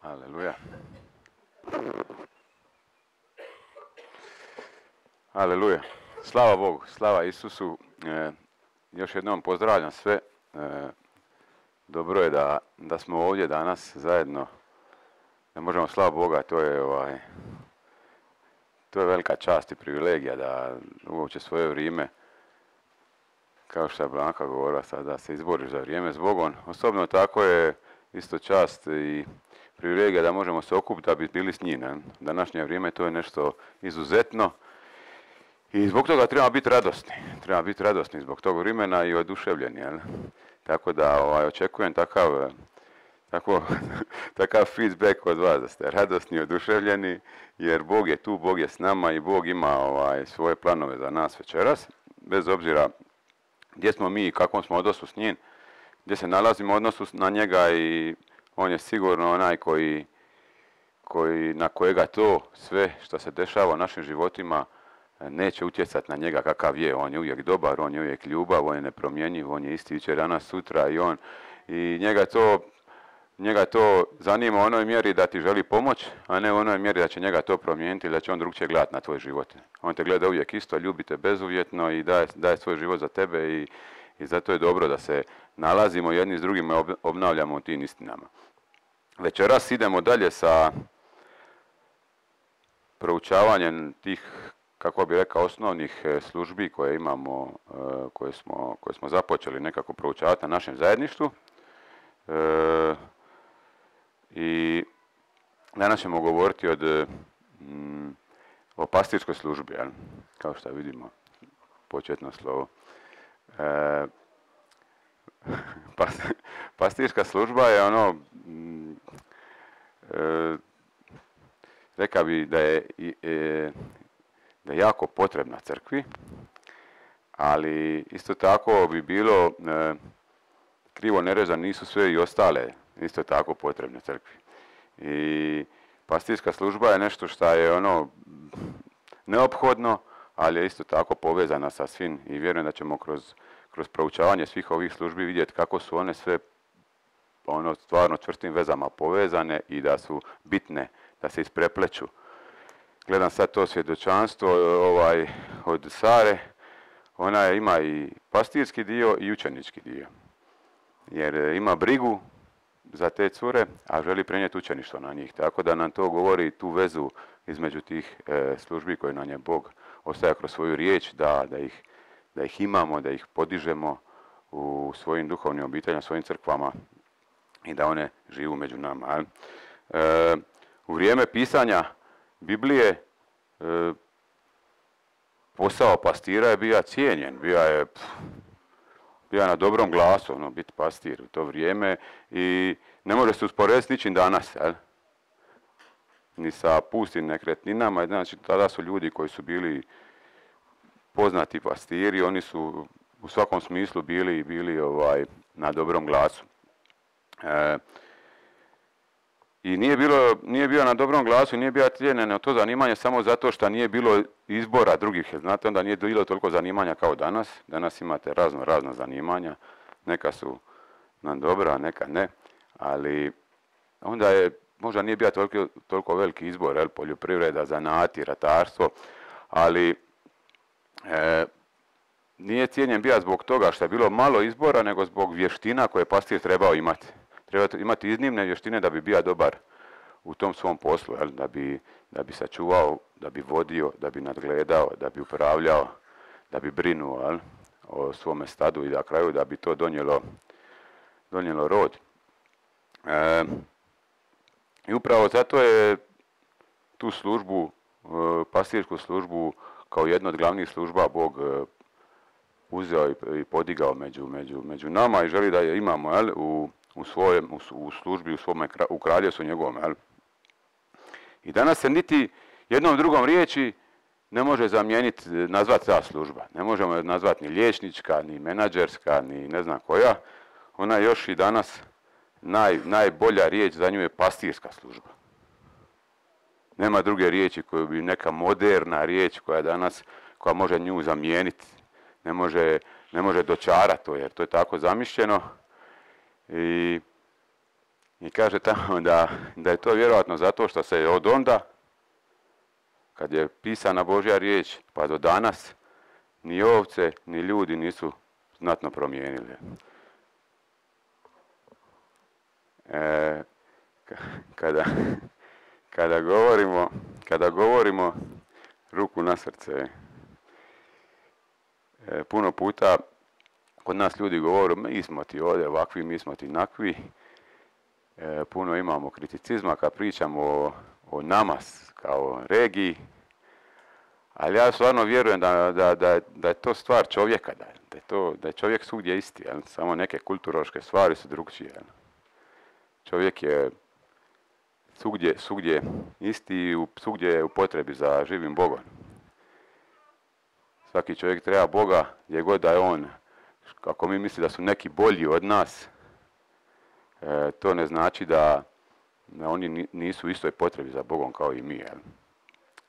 Aleluja. Aleluja. Slava Bogu, slava Isusu. Još jednom pozdravljam sve. Dobro je da smo ovdje danas zajedno. Da možemo slava Boga, to je velika čast i privilegija da uopće svoje vrijeme, kao što je Blanka govorila sad, da se izboriš za vrijeme s Bogom. Osobno tako je isto čast i privilegija da možemo se okupiti da bi bili s njim. Današnje vrijeme to je nešto izuzetno i zbog toga treba biti radosni. Treba biti radosni zbog tog vremena i oduševljeni. Tako da očekujem takav feedback od vas, da ste radosni i oduševljeni, jer Bog je tu, Bog je s nama i Bog ima svoje planove za nas večeras. Bez obzira gdje smo mi i kakvom smo odnosu s njim, gdje se nalazimo u odnosu na njega, i on je sigurno onaj na kojega to sve što se dešava u našim životima neće utjecati na njega kakav je. On je uvijek dobar, on je uvijek ljubav, on je nepromjenjiv, on je isti jučer, danas, sutra i njega to zanima u onoj mjeri da ti želi pomoć, a ne u onoj mjeri da će njega to promijeniti ili da će on drugčije gledati na tvoj život. On te gleda uvijek isto, ljubi te bezuvjetno i daje svoj život za tebe i zato je dobro da se nalazimo jedni s drugima i obnavljamo u tim istinama. Večeras idemo dalje sa proučavanjem tih, kako bih rekao, osnovnih službi koje imamo, koje smo započeli nekako proučavati na našem zajedništvu. I danas ćemo govoriti o pastirskoj službi, kao što vidimo, početno slovo. Pastirska služba je rekao bi da je jako potrebna crkvi, ali isto tako bi bilo krivo nerezan, nisu sve i ostale isto tako potrebne crkvi. I pastirska služba je nešto što je neophodno, ali je isto tako povezana sa svim i vjerujem da ćemo kroz proučavanje svih ovih službi vidjeti kako su one sve stvarno čvrstim vezama povezane i da su bitne, da se isprepleću. Gledam sad to svjedočanstvo od Sare, ona ima i pastirski dio i učenički dio. Jer ima brigu za te cure, a želi prenijeti učeništvo na njih. Tako da nam to govori tu vezu između tih službi koje nam je Bog ostavlja kroz svoju riječ, da ih imamo, da ih podižemo u svojim duhovnim obiteljima, svojim crkvama i da one živu među nama. U vrijeme pisanja Biblije posao pastira je bio cijenjen, bio na dobrom glasu, biti pastir u to vrijeme i ne može se usporediti s ničim danas, ni sa pustim nekretninama. Znači, tada su ljudi koji su bili poznati pastiri, oni su u svakom smislu bili na dobrom glasu. I nije bio na dobrom glasu, nije bio cijenjeno to zanimanje samo zato što nije bilo izbora drugih. Znate, onda nije bilo toliko zanimanja kao danas. Danas imate razna zanimanja. Neka su nam dobra, neka ne. Ali onda možda nije bio toliko veliki izbor, poljoprivreda, zanati, ratarstvo. Ali nije cijenjen bio zbog toga što je bilo malo izbora, nego zbog vještina koje pastir trebao imati. Treba imati iznimne vještine da bi bio dobar u tom svom poslu, da bi sačuvao, da bi vodio, da bi nadgledao, da bi upravljao, da bi brinuo o svome stadu i na kraju da bi to donijelo rod. I upravo zato je tu službu, pastirsku službu, kao jednu od glavnih služba Bog uzeo i podigao među nama i želi da je imamo u službi, u kraljevstvu njegovom. I danas se niti jednom drugom riječi ne može zamijeniti, nazvati ta služba. Ne možemo je nazvati ni liječnička, ni menadžerska, ni ne znam koja. Ona je još i danas najbolja riječ za nju je pastirska služba. Nema druge riječi koju bi neka moderna riječ koja može nju zamijeniti. Ne može dočarati to, jer to je tako zamišljeno. I I kaže tamo da je to vjerojatno zato što se od onda, kad je pisana Božja riječ, pa do danas, ni ovce, ni ljudi nisu znatno promijenili. Kada govorimo ruku na srce, puno puta kod nas ljudi govore, mi smo ti ovdje ovakvi, mi smo ti nakvi. Puno imamo kriticizma kad pričamo o nama kao regiji, ali ja stvarno vjerujem da je to stvar čovjeka, da je čovjek svugdje isti, samo neke kulturološke stvari su drugčije. Čovjek je svugdje isti i svugdje je u potrebi za živim Bogom. Svaki čovjek treba Boga gdje god da je on. Kako mi misli da su neki bolji od nas, to ne znači da oni nisu u istoj potrebi za Bogom kao i mi.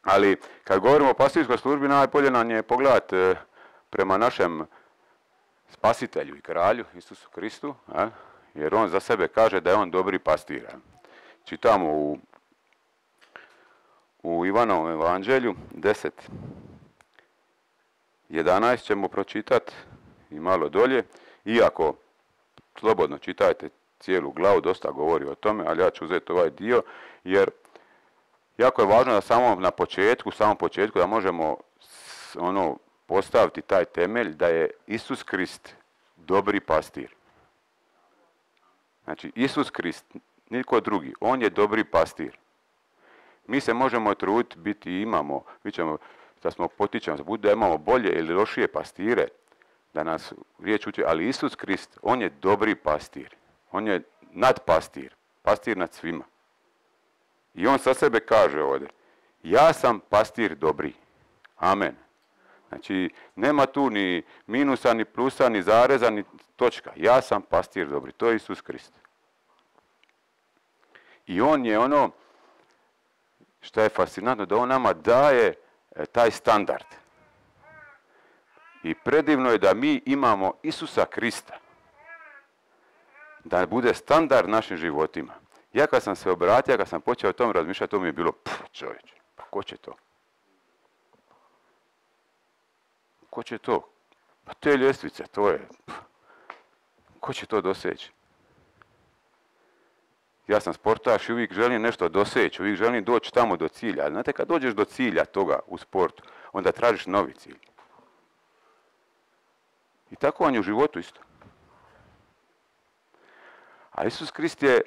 Ali kad govorimo o pastirskoj službi, najbolje nam je pogledati prema našem spasitelju i kralju, Isusu Kristu, jer on za sebe kaže da je on dobri pastir. Čitamo u Ivanovom evanđelju 10:11 ćemo pročitati i malo dolje, iako slobodno čitajte cijelu glavu, dosta govori o tome, ali ja ću uzeti ovaj dio, jer jako je važno da samom početku da možemo postaviti taj temelj da je Isus Krist dobri pastir. Znači, Isus Krist, nitko drugi, on je dobri pastir. Mi se možemo truditi biti, imamo, da smo potičemo, da imamo bolje ili lošije pastire, da nas riječ uči, ali Isus Krist, on je dobri pastir. On je nadpastir, pastir nad svima. I on sa sebe kaže ovdje, ja sam pastir dobri. Amen. Znači, nema tu ni minusa, ni plusa, ni zareza, ni točka. Ja sam pastir dobri. To je Isus Krist. I on je ono što je fascinantno, da on nama daje taj standard. I predivno je da mi imamo Isusa Krista. Da bude standard našim životima. Ja kad sam se obratio, kad sam počeo o tom razmišljati, to mi je bilo, čovječe, pa ko će to? Ko će to? Pa te ljestvice, to je, ko će to doseći? Ja sam sportaš i uvijek želim nešto doseći, uvijek želim doći tamo do cilja. Ali znate, kad dođeš do cilja toga u sportu, onda tražiš novi cilj. I tako vam je u životu isto. A Isus Krist je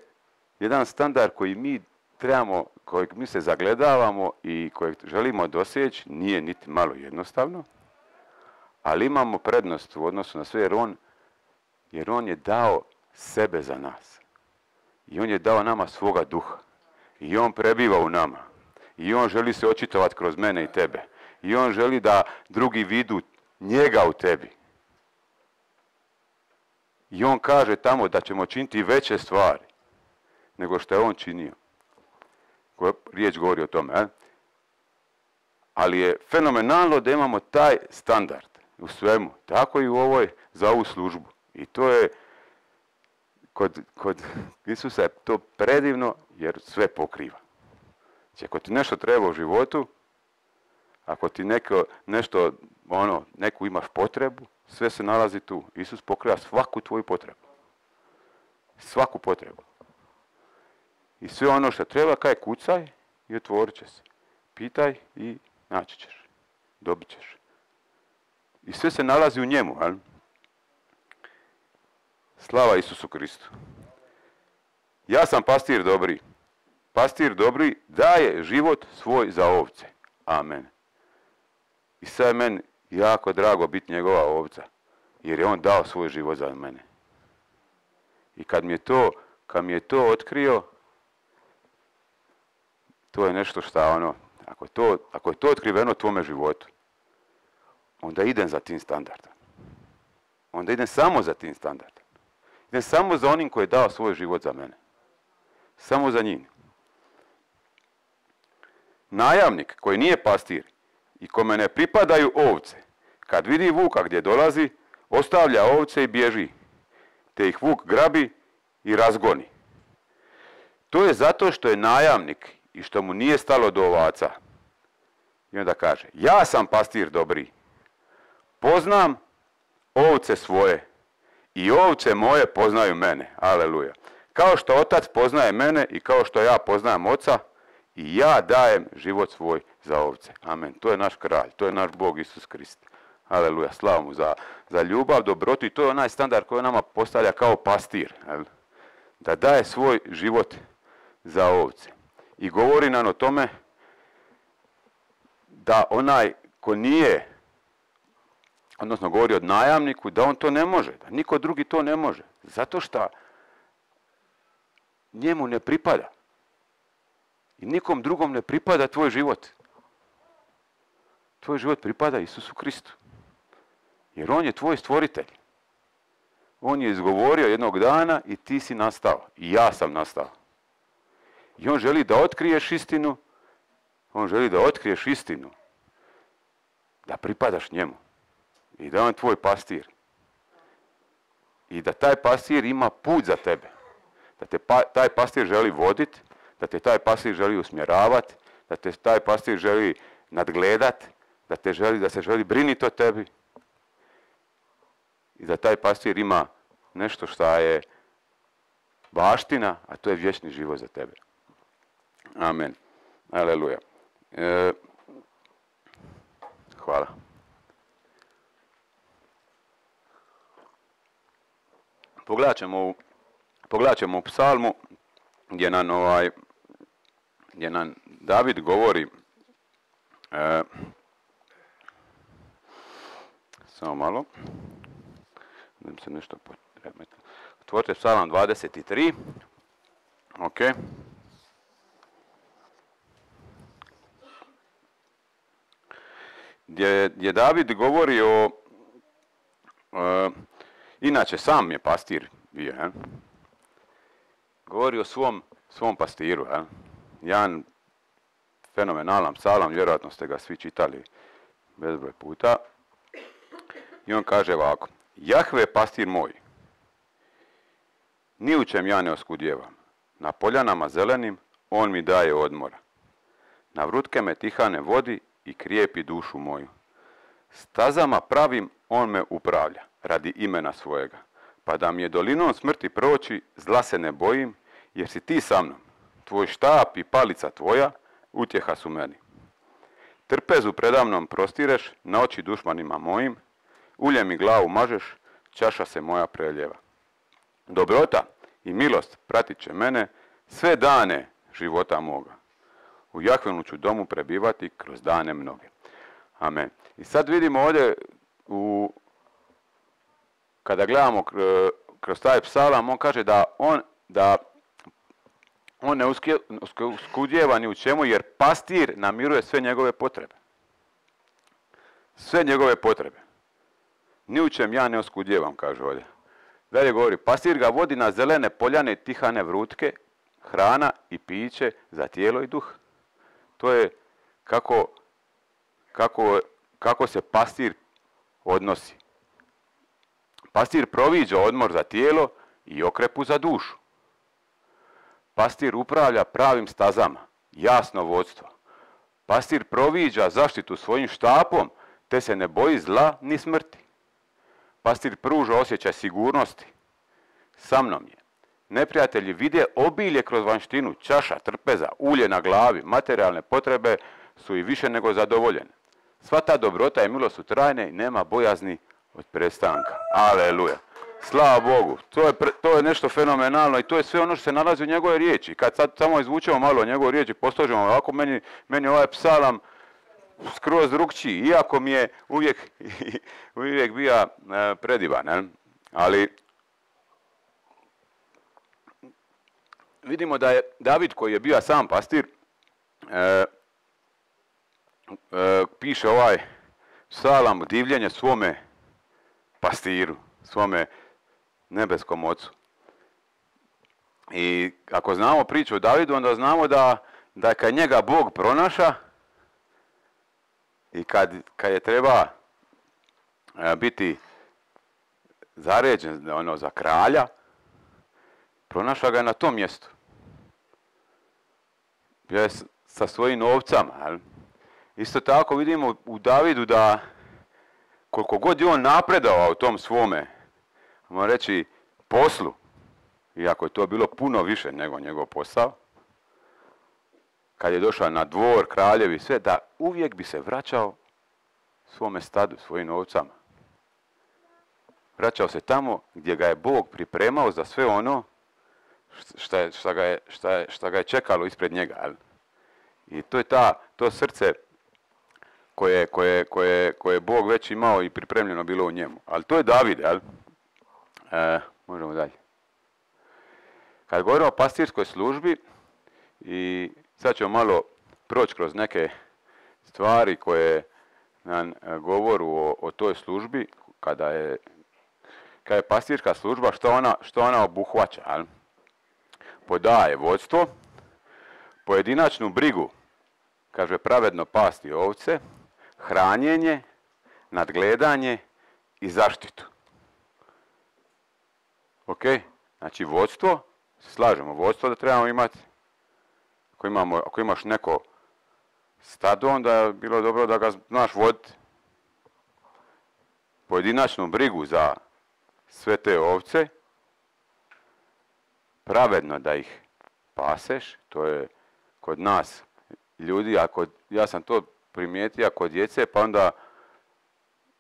jedan standard koji mi trebamo, kojeg mi se zagledavamo i kojeg želimo doseći, nije niti malo jednostavno, ali imamo prednost u odnosu na sve, jer on je dao sebe za nas. I on je dao nama svoga duha. I on prebiva u nama. I on želi se očitovati kroz mene i tebe. I on želi da drugi vidu njega u tebi. I on kaže tamo da ćemo činiti veće stvari nego što je on činio. Riječ govori o tome. Ali je fenomenalno da imamo taj standard u svemu. Tako i u ovoj za ovu službu. I to je kod Isusa je to predivno jer sve pokriva. Znači, ako ti nešto treba u životu, ako ti neku imaš potrebu, sve se nalazi tu. Isus pokriva svaku tvoju potrebu. Svaku potrebu. I sve ono što treba, kaj kucaj i otvorit će se. Pitaj i naći ćeš. Dobit ćeš. I sve se nalazi u njemu. Ali? Slava Isusu Kristu. Ja sam pastir dobri. Pastir dobri daje život svoj za ovce. Amen. I sad je meni jako drago biti njegova ovca. Jer je on dao svoj život za mene. I kad mi je to otkrio, to je nešto što ako je to otkriveno tvome životu, onda idem za tim standardom. Onda idem samo za tim standardom. Idem samo za onim koji je dao svoj život za mene. Samo za njim. Najamnik koji nije pastir i kome ne pripadaju ovce, kad vidi vuka gdje dolazi, ostavlja ovce i bježi, te ih vuk grabi i razgoni. To je zato što je najamnik i što mu nije stalo do ovaca. I onda kaže, ja sam pastir dobri, poznam ovce svoje i ovce moje poznaju mene. Aleluja. Kao što otac poznaje mene i kao što ja poznajem oca, i ja dajem život svoj za ovce. Amen. To je naš kralj, to je naš Bog Isus Krist. Aleluja, slavu mu za ljubav, dobrotu, i to je onaj standard koji nama postavlja kao pastir. Da daje svoj život za ovce. I govori nam o tome da onaj ko nije, odnosno govori o najamniku, da on to ne može, da niko drugi to ne može. Zato što njemu ne pripada. I nikom drugom ne pripada tvoj život. Tvoj život pripada Isusu Kristu. Jer on je tvoj stvoritelj. On je izgovorio jednog dana i ti si nastao. I ja sam nastao. I on želi da otkriješ istinu. On želi da otkriješ istinu. Da pripadaš njemu. I da on je tvoj pastir. I da taj pastir ima put za tebe. Da te taj pastir želi voditi. Da te taj pastir želi usmjeravati. Da te taj pastir želi nadgledati. Da se želi briniti o tebi. I da taj pastir ima nešto što je baština, a to je vječni život za tebe. Amen. Aleluja. Hvala. Pogledat ćemo u psalmu gdje nam David govori, samo malo, da mi se nešto potremeti. Otvorite psalam 23. Ok. Gdje David govori o, inače sam je pastir bio, govori o svom pastiru. Jedan fenomenalan psalam, vjerojatno ste ga svi čitali bezbroj puta. I on kaže ovako, Jahve je pastir moj, ni u čem ja ne oskudjevam. Na poljanama zelenim on mi daje odmora. Na vrutke me tihane vodi i krijepi dušu moju. Stazama pravim on me upravlja, radi imena svojega. Pa da mi je dolinom smrti proći, zla se ne bojim, jer si ti sa mnom. Tvoj štap i palica tvoja utjeha su meni. Trpezu predamnom prostireš, na oči dušmanima mojim, ulje mi glavu mažeš, čaša se moja preljeva. Dobrota i milost pratit će mene sve dane života moga. U Jahvinu ću domu prebivati kroz dane mnoge. Amen. I sad vidimo ovdje, kada gledamo kroz taj psalam, on kaže da on ne uskudjeva ni u čemu, jer pastir namiruje sve njegove potrebe. Sve njegove potrebe. Ni u čem ja ne oskudjevam, kaže ovdje. Dalje govori, pastir ga vodi na zelene poljane tihane vrutke, hrana i piće za tijelo i duh. To je kako se pastir odnosi. Pastir proviđa odmor za tijelo i okrepu za dušu. Pastir upravlja pravim stazama, jasno vodstvo. Pastir proviđa zaštitu svojim štapom, te se ne boji zla ni smrti. Pastir pruža osjećaj sigurnosti. Sa mnom je. Neprijatelji vide obilje kroz vanjštinu, čaša, trpeza, ulje na glavi, materijalne potrebe su i više nego zadovoljene. Sva ta dobrota i milost su trajne i nema bojazni od prestanka. Aleluja. Slava Bogu. To je nešto fenomenalno i to je sve ono što se nalazi u njegove riječi. Kad sad samo izvučemo malo njegove riječi, posložimo ovako, meni ovaj psalam skroz drukčiji, iako mi je uvijek bio predivan. Ali vidimo da je David, koji je bio sam pastir, piše ovaj psalam divljenje svome pastiru, svome nebeskom ocu. I ako znamo priču o Davidu, onda znamo da kad njega Bog pronaša i kad je treba biti zaređen za kralja, pronaša ga na tom mjestu. Bio je sa svojim ovcama. Jel? Isto tako vidimo u Davidu da koliko god je on napredovao u tom svome, možemo reći, poslu, iako je to bilo puno više nego njegov posao, kad je došao na dvor, kraljevi, sve, da uvijek bi se vraćao svome stadu, svojim ovcama. Vraćao se tamo gdje ga je Bog pripremao za sve ono šta ga je čekalo ispred njega. Jel? I to je to srce koje Bog već imao i pripremljeno bilo u njemu. Ali to je David, jel? Možemo dalje. Kad govorimo o pastirskoj službi, i sad ćemo malo proći kroz neke stvari koje nam govoru o toj službi, kada je pastirska služba, što ona obuhvaća. Jel? Podaje vodstvo, pojedinačnu brigu, kaže pravedno pasti ovce, hranjenje, nadgledanje i zaštitu. Ok? Znači vodstvo, slažemo, vodstvo da trebamo imati. Ako imaš neko stado, onda je bilo dobro da ga znaš voditi. Pojedinačnu brigu za sve te ovce, pravedno da ih paseš, to je kod nas ljudi, ja sam to primijetio kod djece, pa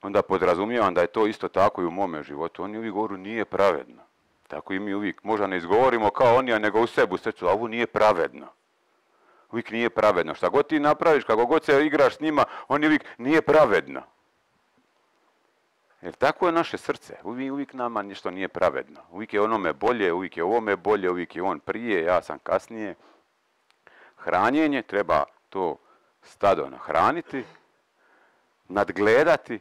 onda podrazumijevam da je to isto tako i u mome životu. Oni uvijek govoru nije pravedno. Tako i mi uvijek, možda ne izgovorimo kao oni, nego u sebi u srcu, a ovo nije pravedno. Uvijek nije pravedno. Šta god ti napraviš, kako god se igraš s njima, oni uvijek nije pravedno. Jer tako je naše srce. Uvijek nama nešto nije pravedno. Uvijek je onome bolje, uvijek je ovome bolje, uvijek je on prije, ja sam kasnije. Hranjenje, treba to stado nahraniti, nadgledati,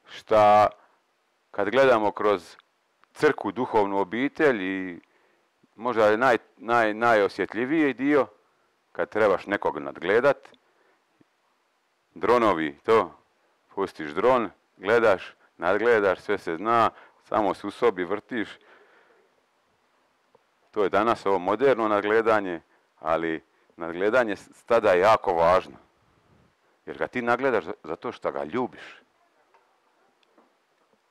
šta kad gledamo kroz crkvu, duhovnu obitelj, i možda je najosjetljiviji dio, kad trebaš nekog nadgledat, dronovi, to, pustiš dron, gledaš, nadgledaš, sve se zna, samo se u sobi vrtiš. To je danas ovo moderno nadgledanje, ali nadgledanje stada je jako važno. Jer ga ti nadgledaš zato što ga ljubiš.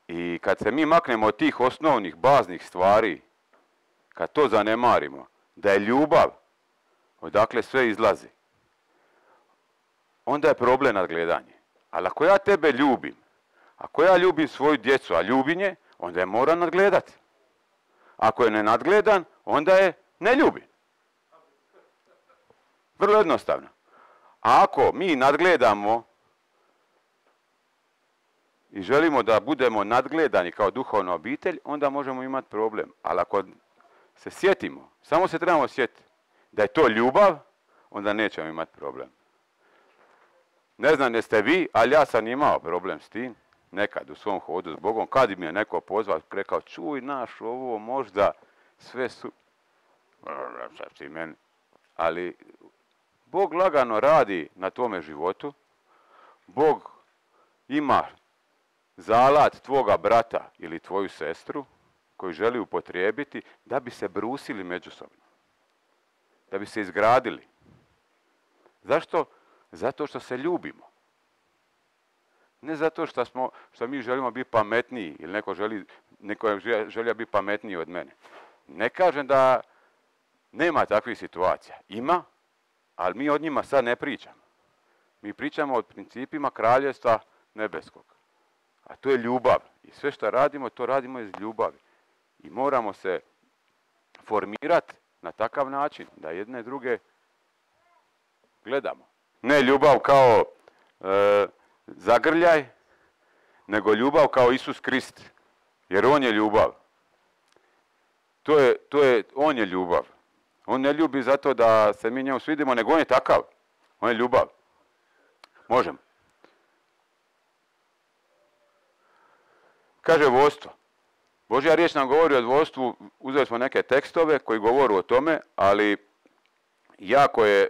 I kad se mi maknemo od tih osnovnih, baznih stvari, kad to zanemarimo, da je ljubav, odakle sve izlazi, onda je problem nadgledanje. Ali ako ja tebe ljubim, ako ja ljubim svoju djecu, a ljubim je, onda je moram nadgledati. Ako je ne nadgledan, onda je ne ljubim. Vrlo jednostavno. A ako mi nadgledamo i želimo da budemo nadgledani kao duhovna obitelj, onda možemo imati problem. Ali ako se sjetimo, samo se trebamo sjetiti da je to ljubav, onda nećemo imati problem. Ne znam jeste vi, ali ja sam imao problem s tim, nekad u svom hodu s Bogom, kad mi je neko pozvao, rekao, čuj naš, ovo možda sve su... Ali Bog lagano radi na tome životu, Bog ima zalat tvoga brata ili tvoju sestru koju želi upotrijebiti da bi se brusili međusobno, da bi se izgradili. Zašto? Zato što se ljubimo. Ne zato što mi želimo biti pametniji ili neko želi biti pametniji od mene. Ne kažem da nema takvih situacija. Ima, ali mi od njima sad ne pričamo. Mi pričamo o principima kraljevstva nebeskog. A to je ljubav. I sve što radimo, to radimo iz ljubavi. I moramo se formirati na takav način da jedne druge gledamo. Ne ljubav kao zagrljaj, nego ljubav kao Isus Krist. Jer on je ljubav. On je ljubav. On ne ljubi zato da se mi njemu svidimo, nego on je takav. On je ljubav. Možemo. Kaže vodstvo. Božja riječ nam govori o vodstvu, uzeli smo neke tekstove koji govoru o tome, ali jako je,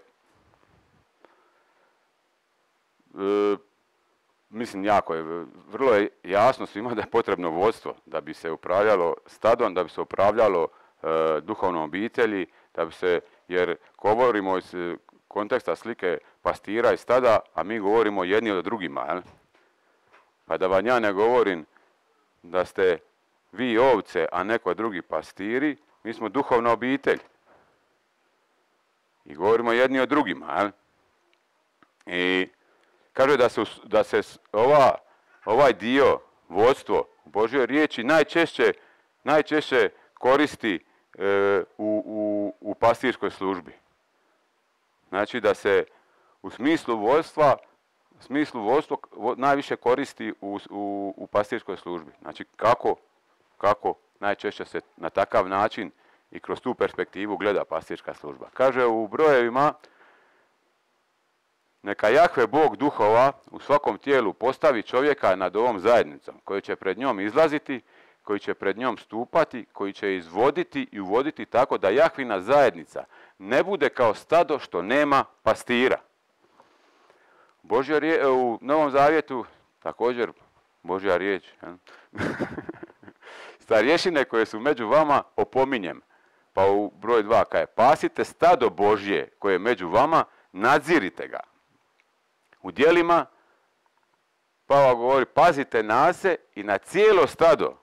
vrlo je jasno svima da je potrebno vodstvo da bi se upravljalo stadom, da bi se upravljalo duhovnom obitelji, jer govorimo iz konteksta slike pastira i stada, a mi govorimo jedni od drugima. Jel? Pa da vam ja ne govorim da ste vi ovce, a neko drugi pastiri, mi smo duhovna obitelj. I govorimo jedni od drugima. Jel? I kaže da se ovaj dio, vodstvo u Božjoj riječi najčešće koristi u pastirskoj službi. Znači da se u smislu vodstvo najviše koristi u pastirskoj službi. Znači kako najčešće se na takav način i kroz tu perspektivu gleda pastirska služba. Kaže u brojevima: neka Jahve Bog duhova u svakom tijelu postavi čovjeka nad ovom zajednicom, koji će pred njom izlaziti, koji će pred njom stupati, koji će izvoditi i uvoditi tako da Jahvina zajednica ne bude kao stado što nema pastira. U Novom Zavjetu također Božja riječ. Starješine koje su među vama opominjem. Pa u broj 2 kaže: pasite stado Božje koje je među vama, nadzirite ga. U djelima Pavao govori: pazite na se i na cijelo stado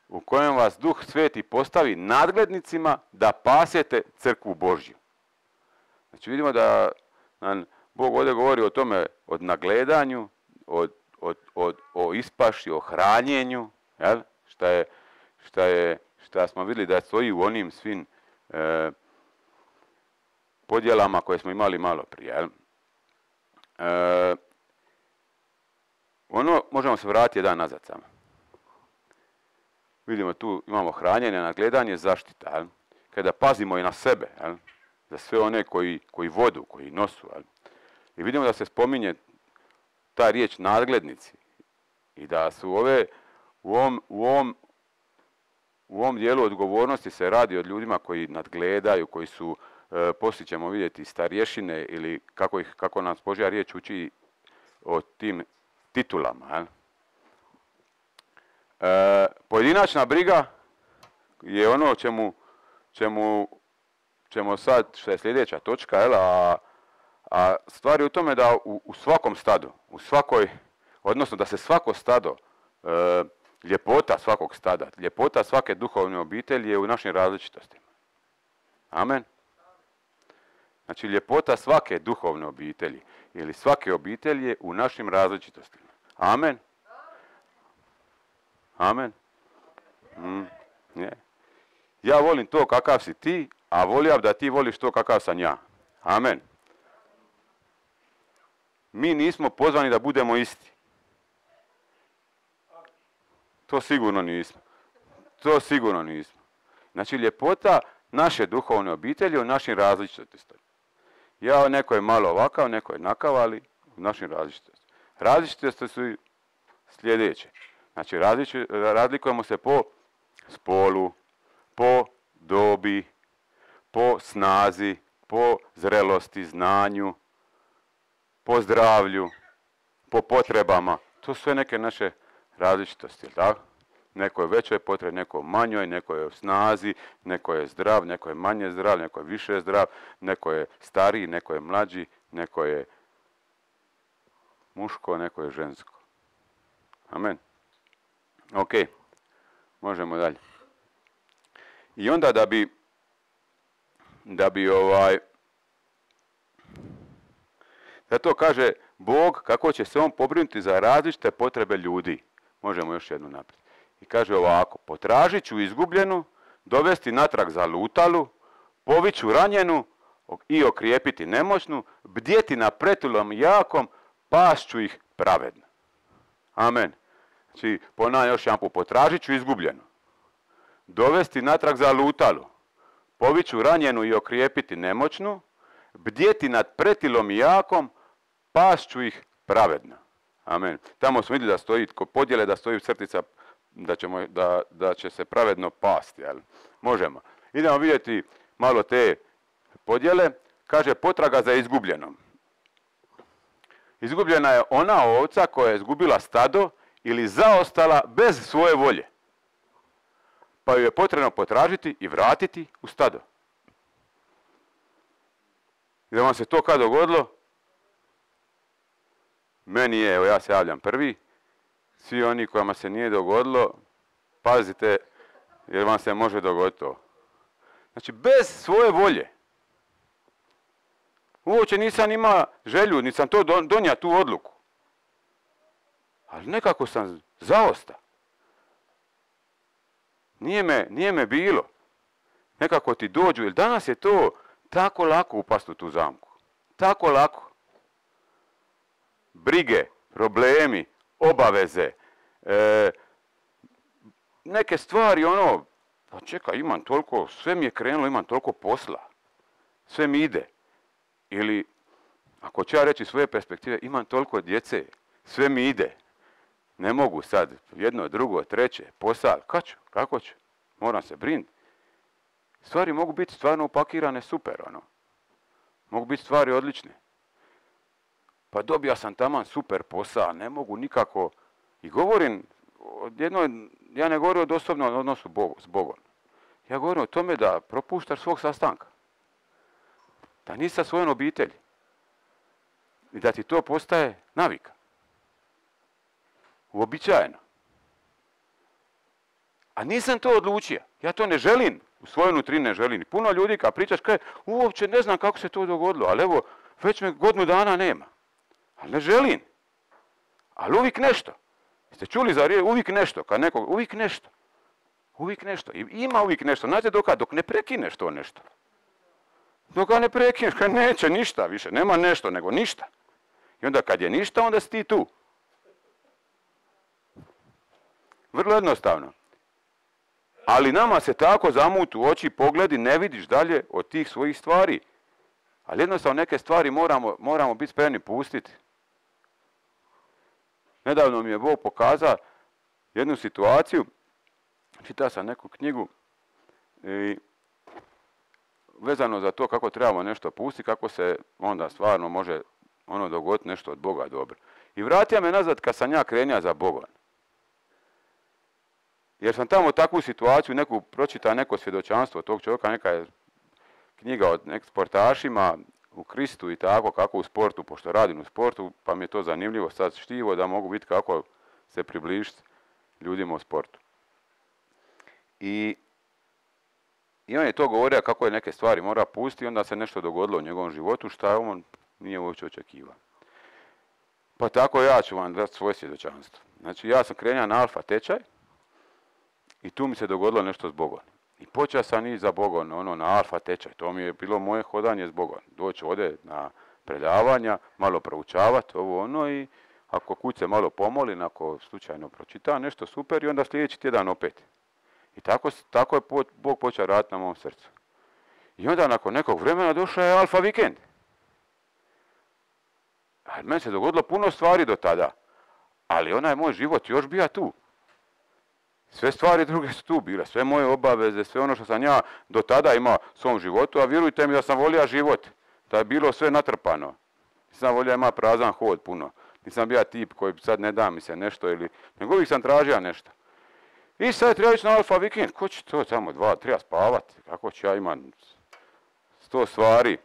u kojem vas Duh Sveti postavi nadglednicima da pasete crkvu Božju. Znači vidimo da nam Bog ovdje govori o tome, o nagledanju, o ispaši, o hranjenju, jel? Šta smo vidjeli da stoji u onim svim podjelama koje smo imali malo prije. Jel? Možemo se vratiti jedan nazad samo. Vidimo tu imamo hranjenje, nagledanje, zaštita. Jel? Kada pazimo i na sebe, jel? Za sve one koji vodu, koji nosu. Jel? I vidimo da se spominje ta riječ nadglednici. I da su u ovom dijelu odgovornosti se radi o ljudima koji nadgledaju, koji su, poslije ćemo vidjeti, starješine ili kako nas Božja riječ uči o tim titulama. Jel? Pojedinačna briga je ono čemu sad, što je sljedeća točka, jel? A stvar je u tome da u svakom stadu, odnosno da se svako stado, ljepota svakog stada, ljepota svake duhovne obitelji je u našim različitostima. Amen. Znači ljepota svake duhovne obitelji ili svake obitelji je u našim različitostima. Amen. Amen. Ja volim to kakav si ti, a volio da ti voliš to kakav sam ja. Amen. Mi nismo pozvani da budemo isti. To sigurno nismo. Znači ljepota naše duhovne obitelji u našim različitostima. Neko je malo ovakav, neko je nakav, ali u našim različitostima. Različitosti su sljedeće. Znači razlikujemo se po spolu, po dobi, po snazi, po zrelosti, znanju, po zdravlju, po potrebama. To su sve neke naše različitosti, tako? Neko je većoj potrebi, neko manjoj, neko je u snazi, neko je zdrav, neko je manje zdrav, neko je više zdrav, neko je stariji, neko je mlađi, neko je muško, neko je žensko. Amen. Ok, možemo dalje. I onda zato kaže Bog kako će se on pobrinuti za različite potrebe ljudi. Možemo još jednu naprijed. I kaže ovako: potražit ću izgubljenu, dovesti natrag zalutalu, poviću ranjenu i okrijepiti nemoćnu, bdjeti na pretulom jakom, pašću ih pravedno. Amen. Znači, ponavljam još jedanput: potražit ću izgubljenu, dovesti natrag zalutalu, poviću ranjenu i okrijepiti nemoćnu, bdjeti nad pretilom jakom, pašću ih pravedno. Amen. Tamo smo vidjeli da stoji, kod podjele da stoji crtica da će se pravedno pasti. Jel? Možemo. Idemo vidjeti malo te podjele. Kaže potraga za izgubljenom. Izgubljena je ona ovca koja je izgubila stado ili zaostala bez svoje volje. Pa ju je potrebno potražiti i vratiti u stado. I da vam se to kad dogodilo, meni je, evo ja se javljam prvi, svi oni kojima se nije dogodilo, pazite, jer vam se može dogoditi to. Znači, bez svoje volje. Uopće nisam imao želju, nisam to donio tu odluku. Ali nekako sam zaostao. Nije me bilo. Nekako ti dođu, jer danas je to tako lako upasti u tu zamku. Tako lako. Brige, problemi, obaveze, neke stvari, pa čekaj, imam toliko, sve mi je krenulo, imam toliko posla. Sve mi ide. Ili, ako ću ja reći svoje perspektive, imam toliko djece, sve mi ide. Ne mogu sad, jedno, drugo, treće, posao, kako ću? Moram se brinuti. Stvari mogu biti stvarno upakirane super, Mogu biti stvari odlične. Pa dobija sam taman super posao, ne mogu nikako. I govorim, ja ne govorim o osobnom odnosu s Bogom. Ja govorim o tome da propuštaš svog sastanka. Da nisi sa svojom obitelji. I da ti to postaje navika. Uobičajeno. A nisam to odlučio. Ja to ne želim. U svojoj nutrini ne želim. Puno ljudi kad pričaš kaže, uopće ne znam kako se to dogodilo, ali evo, već me godinu dana nema. Ali ne želim. Ali uvijek nešto. Jeste čuli za riječ uvijek nešto? Kad nekog, uvijek nešto. Uvijek nešto. I ima uvijek nešto. Znate dok ne prekineš to nešto. Dok ne prekineš, kad neće ništa više. Nema nešto, nego ništa. I onda kad je ništa, onda si ti tu. Vrlo jednostavno. Ali nama se tako zamutu oči, pogledi, ne vidiš dalje od tih svojih stvari. Ali jednostavno neke stvari moramo biti spremni pustiti. Nedavno mi je Bog pokazao jednu situaciju. Čitao sam neku knjigu i vezano za to kako trebamo nešto pustiti, kako se onda stvarno može dogoditi nešto od Boga dobro. I vratio me nazad kad sam ja krenio za Bogom. Jer sam tamo takvu situaciju, pročitao neko svjedočanstvo tog čovjeka, neka je knjiga od nekim sportašima u Kristu i tako, kako u sportu, pošto radim u sportu, pa mi je to zanimljivo sad štivo da mogu biti kako se približiti ljudima u sportu. I on je to govorio kako je neke stvari mora pustiti, onda se nešto dogodilo u njegovom životu, što on nije uopće očekivao. Pa tako ja ću vam dati svoje svjedočanstvo. Znači ja sam krenuo na alfa tečaj i tu mi se dogodilo nešto s Bogom. I počeo sam ići za Bogom, na alfa tečaj. To mi je bilo moje hodanje s Bogom. Doći ovdje na predavanja, malo proučavati i ako kuće malo pomolim, ako slučajno pročita nešto super i onda sljedeći tjedan opet. I tako je Bog počeo raditi na mom srcu. I onda nakon nekog vremena došao je alfa vikend. A meni se dogodilo puno stvari do tada. Ali onaj moj život još bio tu. Sve stvari druge su tu bile, sve moje obaveze, sve ono što sam ja do tada imao u svom životu, a vjerujte mi da sam volio život, da je bilo sve natrpano. Nisam volio imati prazan hod puno. Nisam bio tip koji sad ne da mi se nešto nego uvijek sam tražio nešto. I sad treba ići na alfa vikend, ko će to samo treba spavati, kako ću ja imati 100 stvari.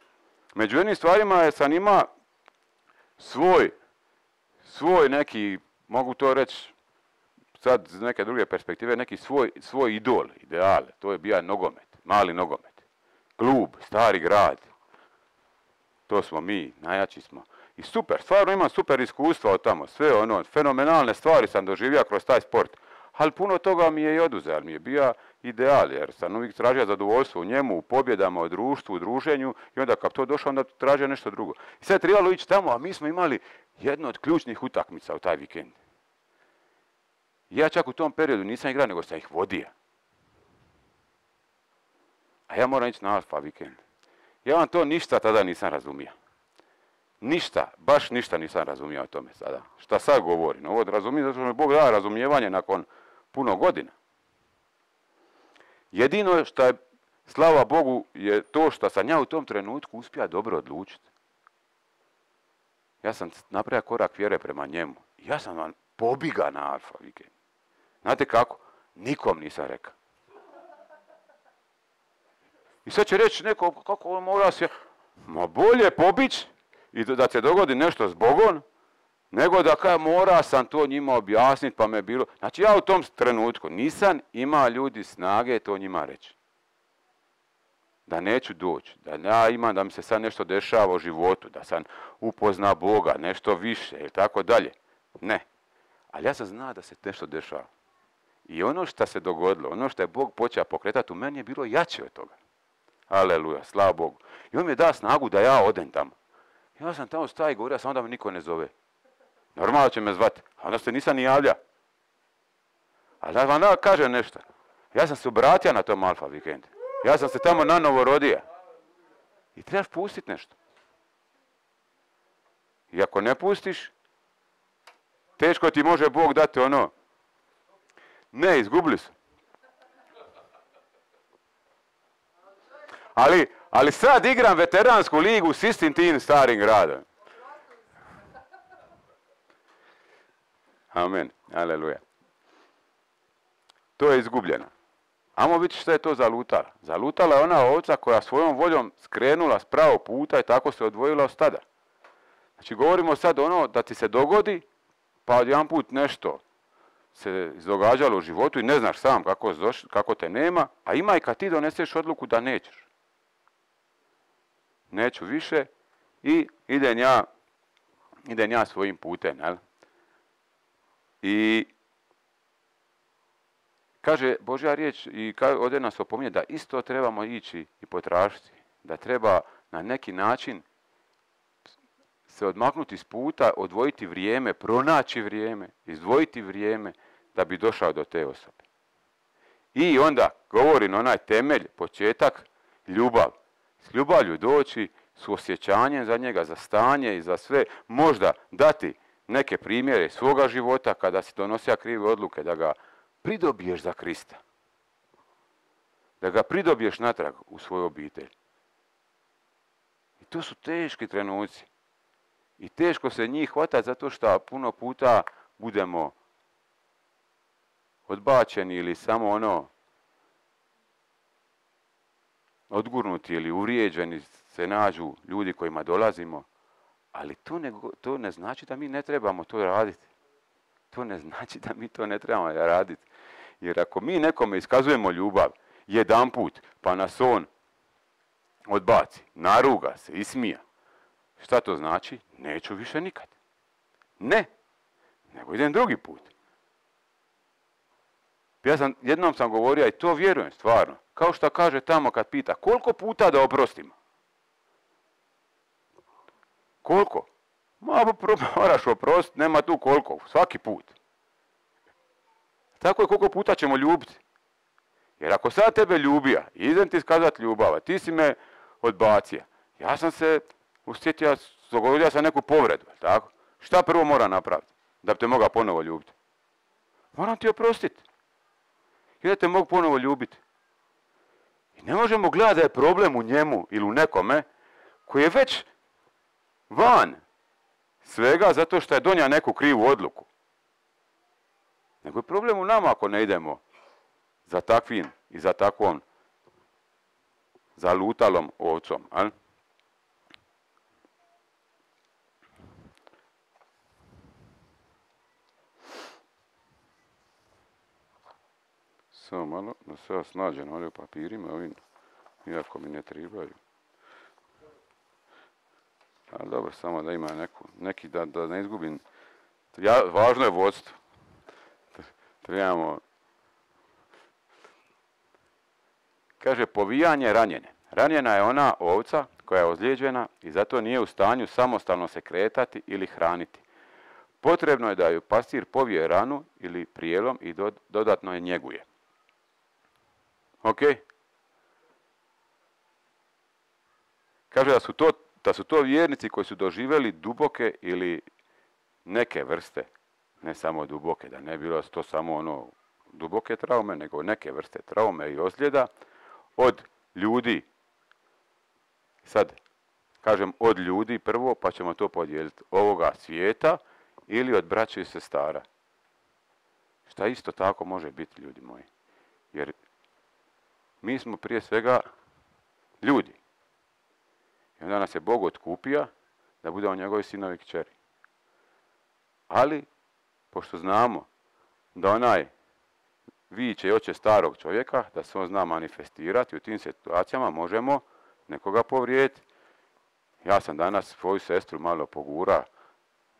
Među jednim stvarima sam imao svoj neki, mogu to reći, sad iz neke druge perspektive, neki svoj idol, ideal. To je bio nogomet, mali nogomet. Klub, stari grad. To smo mi, najjači smo. I super, stvarno imam super iskustva od tamo. Sve fenomenalne stvari sam doživio kroz taj sport. Ali puno toga mi je i oduzeo, ali mi je bio ideal, jer sam uvijek tražio zadovoljstvo u njemu, u pobjedama, u društvu, u druženju i onda kad to došao, onda tražio nešto drugo. I sad je trebalo ići tamo, a mi smo imali jednu od ključnih utakmica u taj vikend. Ja čak u tom periodu nisam igrao, nego sam ih vodio. A ja moram ići na alfa vikend. Ja vam to ništa tada nisam razumio. Ništa, baš ništa nisam razumio o tome sada. Šta sad govorim? Ovo razumijem zato što mi Bog da razumijevanje nakon puno godina. Jedino što je, slava Bogu, je to što sam ja u tom trenutku uspio dobro odlučiti. Ja sam napravio korak vjere prema njemu. Ja sam vam pobiga na alfa vikend. Znate kako? Nikom nisam rekao. I sad će reći neko, kako on mora se... Ma bolje pobić i da se dogodi nešto s Bogom, nego da kaj mora sam to njima objasniti pa me bilo. Znači ja u tom trenutku nisam imao ljudi snage to njima reći. Da neću doći, da ja imam da mi se sad nešto dešava u životu, da sam upozna Boga, nešto više ili tako dalje. Ne. Ali ja sam znao da se nešto dešava. I ono što se dogodilo, ono što je Bog počeo pokretati u meni je bilo jače od toga. Aleluja, slava Bogu. I on mi je dao snagu da ja odem tamo. Ja sam tamo staj i govorio, samo da me niko ne zove. Normalno će me zvati, a onda se nisam ni javlja. Ali da vam da kažem nešto. Ja sam se obratio na tom Alfa vikendu. Ja sam se tamo nanovo rodio. I trebaš pustiti nešto. I ako ne pustiš, teško ti može Bog dati ono. Ne, izgubili su. Ali sad igram veteransku ligu s istim tim starim gradom. Amen. Aleluja. To je izgubljeno. Ajmo vidjeti što je to zalutala. Zalutala je ona ovca koja svojom voljom skrenula s pravog puta i tako se odvojila od stada. Znači govorimo sad ono da ti se dogodi, pa odjedanput nešto se događalo u životu i ne znaš sam kako te nema, a ima i kad ti doneseš odluku da nećeš. Neću više i idem ja svojim putem. Jel? I kaže Božja riječ i ovdje nas opominje da isto trebamo ići i potražiti. Da treba na neki način se odmaknuti s puta, odvojiti vrijeme, pronaći vrijeme, izdvojiti vrijeme da bi došao do te osobe. I onda govori na onaj temelj, početak, ljubav. S ljubavlju doći, s osjećanjem za njega, za stanje i za sve. Možda dati neke primjere svoga života kada si donosio krive odluke, da ga pridobiješ za Krista. Da ga pridobiješ natrag u svoju obitelj. I to su teški trenuci. I teško se njih hvatati zato što puno puta budemo odbačeni ili samo ono odgurnuti ili uvrijeđeni se nađu ljudi kojima dolazimo. Ali to ne znači da mi ne trebamo to raditi. To ne znači da mi to ne trebamo raditi. Jer ako mi nekome iskazujemo ljubav jedanput, pa nas on odbaci, naruga se, ismija. Šta to znači? Neću više nikad. Ne, nego idem drugi put. Jednom sam govorio i to vjerujem stvarno. Kao što kaže tamo kad pita, koliko puta da oprostimo? Koliko? Moraš oprostiti, nema tu koliko, svaki put. Tako je koliko puta ćemo ljubiti. Jer ako sad tebe ljubija, idem ti iskazati ljubav, ti si me odbacio. Ja sam se usjetio, dogodio sam neku povredu, tako? Šta prvo mora napraviti da bi te mogao ponovo ljubiti? Moram ti oprostiti. I da te mogu ponovo ljubiti. I ne možemo gledati da je problem u njemu ili u nekome koji je već van svega zato što je donio neku krivu odluku. Nego je problem u nama ako ne idemo za takvim i za takvom zalutalom ovcom. Al? Samo malo da se ja snađem ovdje u papirima ovim, iako mi ne trebaju. Ali dobro, samo da ima neki da ne izgubim. Važno je vodstvo. Trebamo. Kaže, povijanje ranjene. Ranjena je ona ovca koja je ozlijeđena i zato nije u stanju samostalno se kretati ili hraniti. Potrebno je da ju pastir povije ranu ili prijelom i dodatno je njeguje. Ok? Kaže da su to vjernici koji su doživjeli duboke ili neke vrste, ne samo duboke, da ne bilo to samo ono duboke traume, nego neke vrste traume i ozljeda od ljudi. Sad, kažem od ljudi prvo, pa ćemo to podijeliti. Ovoga svijeta ili od braće i sestara. Šta isto tako može biti, ljudi moji. Jer mi smo prije svega ljudi. I onda nas je Bog otkupio da budemo njegovi sinovi i kćeri. Ali, pošto znamo da onaj viče i oče starog čovjeka, da se on zna manifestirati, u tim situacijama možemo nekoga povrijediti. Ja sam danas svoju sestru malo pogura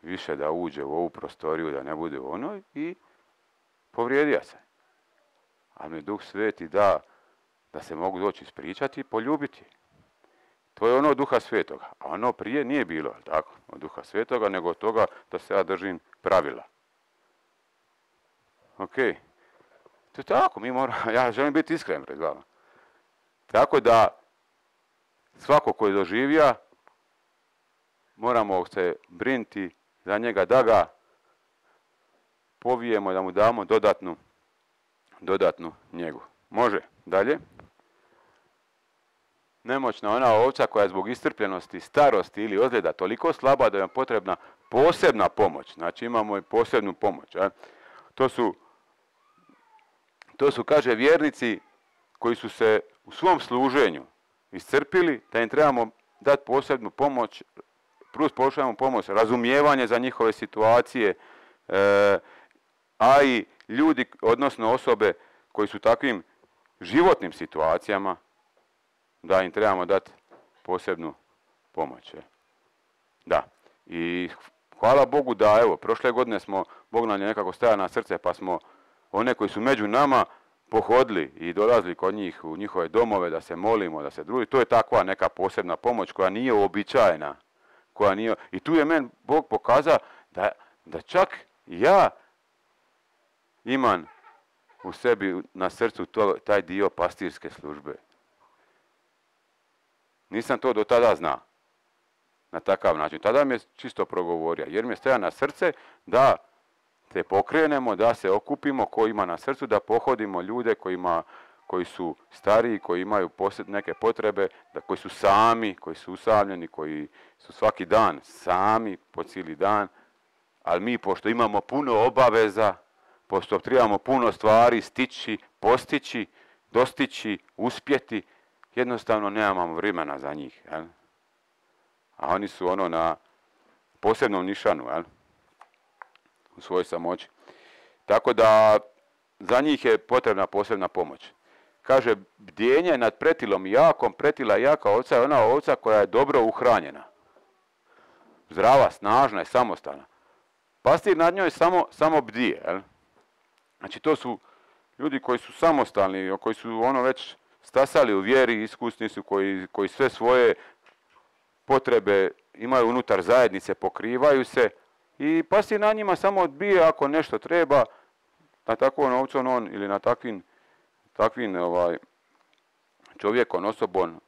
više da uđe u ovu prostoriju, da ne bude u onoj i povrijedija se. Ali mi Duh Sveti da se mogu doći ispričati i poljubiti. To je ono od Duha Svetoga. A ono prije nije bilo, tako, od Duha Svetoga, nego od toga da se ja držim pravila. Ok. To je tako, ja želim biti iskren pred vama. Tako da, svako koji doživija, moramo se brinuti za njega, da ga povijemo, da mu damo dodatnu njegu. Može, dalje. Nemoćna ona ovca koja je zbog iscrpljenosti, starosti ili ozljeda toliko slaba da je potrebna posebna pomoć. Znači imamo i posebnu pomoć. To su, kaže, vjernici koji su se u svom služenju iscrpili, da im trebamo dati posebnu pomoć, plus pošaljamo pomoć, razumijevanje za njihove situacije, a i ljudi, odnosno osobe koji su takvim životnim situacijama, da im trebamo dati posebnu pomoć. Da. I hvala Bogu da, evo, prošle godine Bog nam je nekako stajao na srce, pa smo one koji su među nama pohodili i dolazili kod njih u njihove domove da se molimo, da se druži. To je takva neka posebna pomoć koja nije uobičajena. I tu je meni Bog pokazao da čak ja imam u sebi na srcu taj dio pastirske službe. Nisam to do tada znao na takav način. Tada mi je čisto progovorio, jer mi je stajao na srce da se pokrenemo, da se okupimo, ko ima na srcu, da pohodimo ljude koji su stariji, koji imaju neke potrebe, koji su sami, koji su usamljeni, koji su svaki dan sami, po cijeli dan. Ali mi, pošto imamo puno obaveza, pošto trebamo puno stvari stići, postići, dostići, uspjeti, jednostavno nemamo vremena za njih. Jel? A oni su na posebnom nišanu, jel? U svojoj samoći. Tako da za njih je potrebna posebna pomoć. Kaže, bdjenje nad pretilom i jakom, pretila jaka ovca je ona ovca koja je dobro uhranjena. Zdrava, snažna i samostalna. Pastir nad njoj samo bdije. Jel? Znači to su ljudi koji su samostalni, koji su već stasali u vjeri, iskusni su, koji sve svoje potrebe imaju unutar zajednice, pokrivaju se i pastir na njima samo odbije ako nešto treba, na takvom ovcom on ili na takvim čovjekom, osobom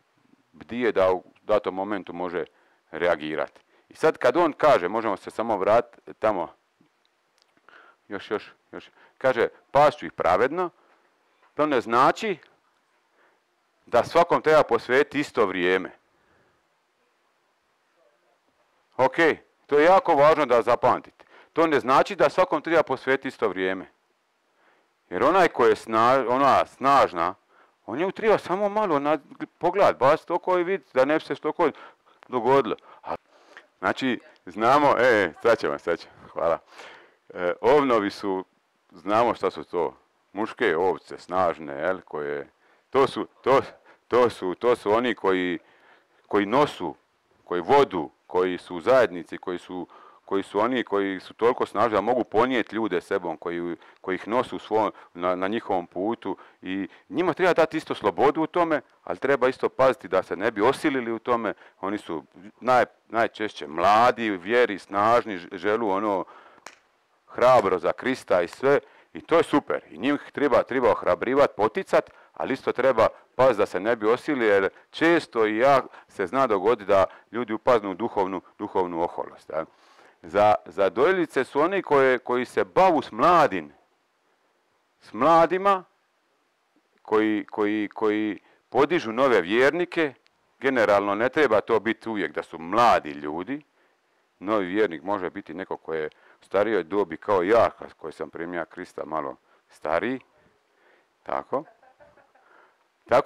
bdije da u datom momentu može reagirati. I sad kad on kaže, možemo se samo vratiti tamo, još, kaže, pašću ih pravedno, to ne znači da svakom treba posvetiti isto vrijeme. Ok, to je jako važno da zapamtite. To ne znači da svakom treba posvetiti isto vrijeme. Jer onaj koji je snažna, on je treba samo malo pogledat, baš toko i vidjeti da ne bi se što dogodilo. Znači, znamo, sad ćemo, hvala. Ovnovi su, znamo šta su to, muške ovce, snažne, jel, koje, to su oni koji nosu, koji vodu, koji su u zajednici, koji su oni koji su toliko snažni da mogu ponijeti ljude sebom, koji ih nosu na njihovom putu i njima treba dati isto slobodu u tome, ali treba isto paziti da se ne bi osilili u tome. Oni su najčešće mladi, vjeri, snažni, želu hrabro za Krista i sve i to je super. I njih treba ohrabrivati, poticati, ali isto treba paziti da se ne bi osilili jer često i se zna dogoditi da ljudi upadnu u duhovnu oholost. Ja. Za dojiljice su oni koji se bavu s mladima, koji podižu nove vjernike. Generalno ne treba to biti uvijek da su mladi ljudi. Novi vjernik može biti neko koji je u starijoj dobi kao ja, koji sam primio Krista malo stariji. Tako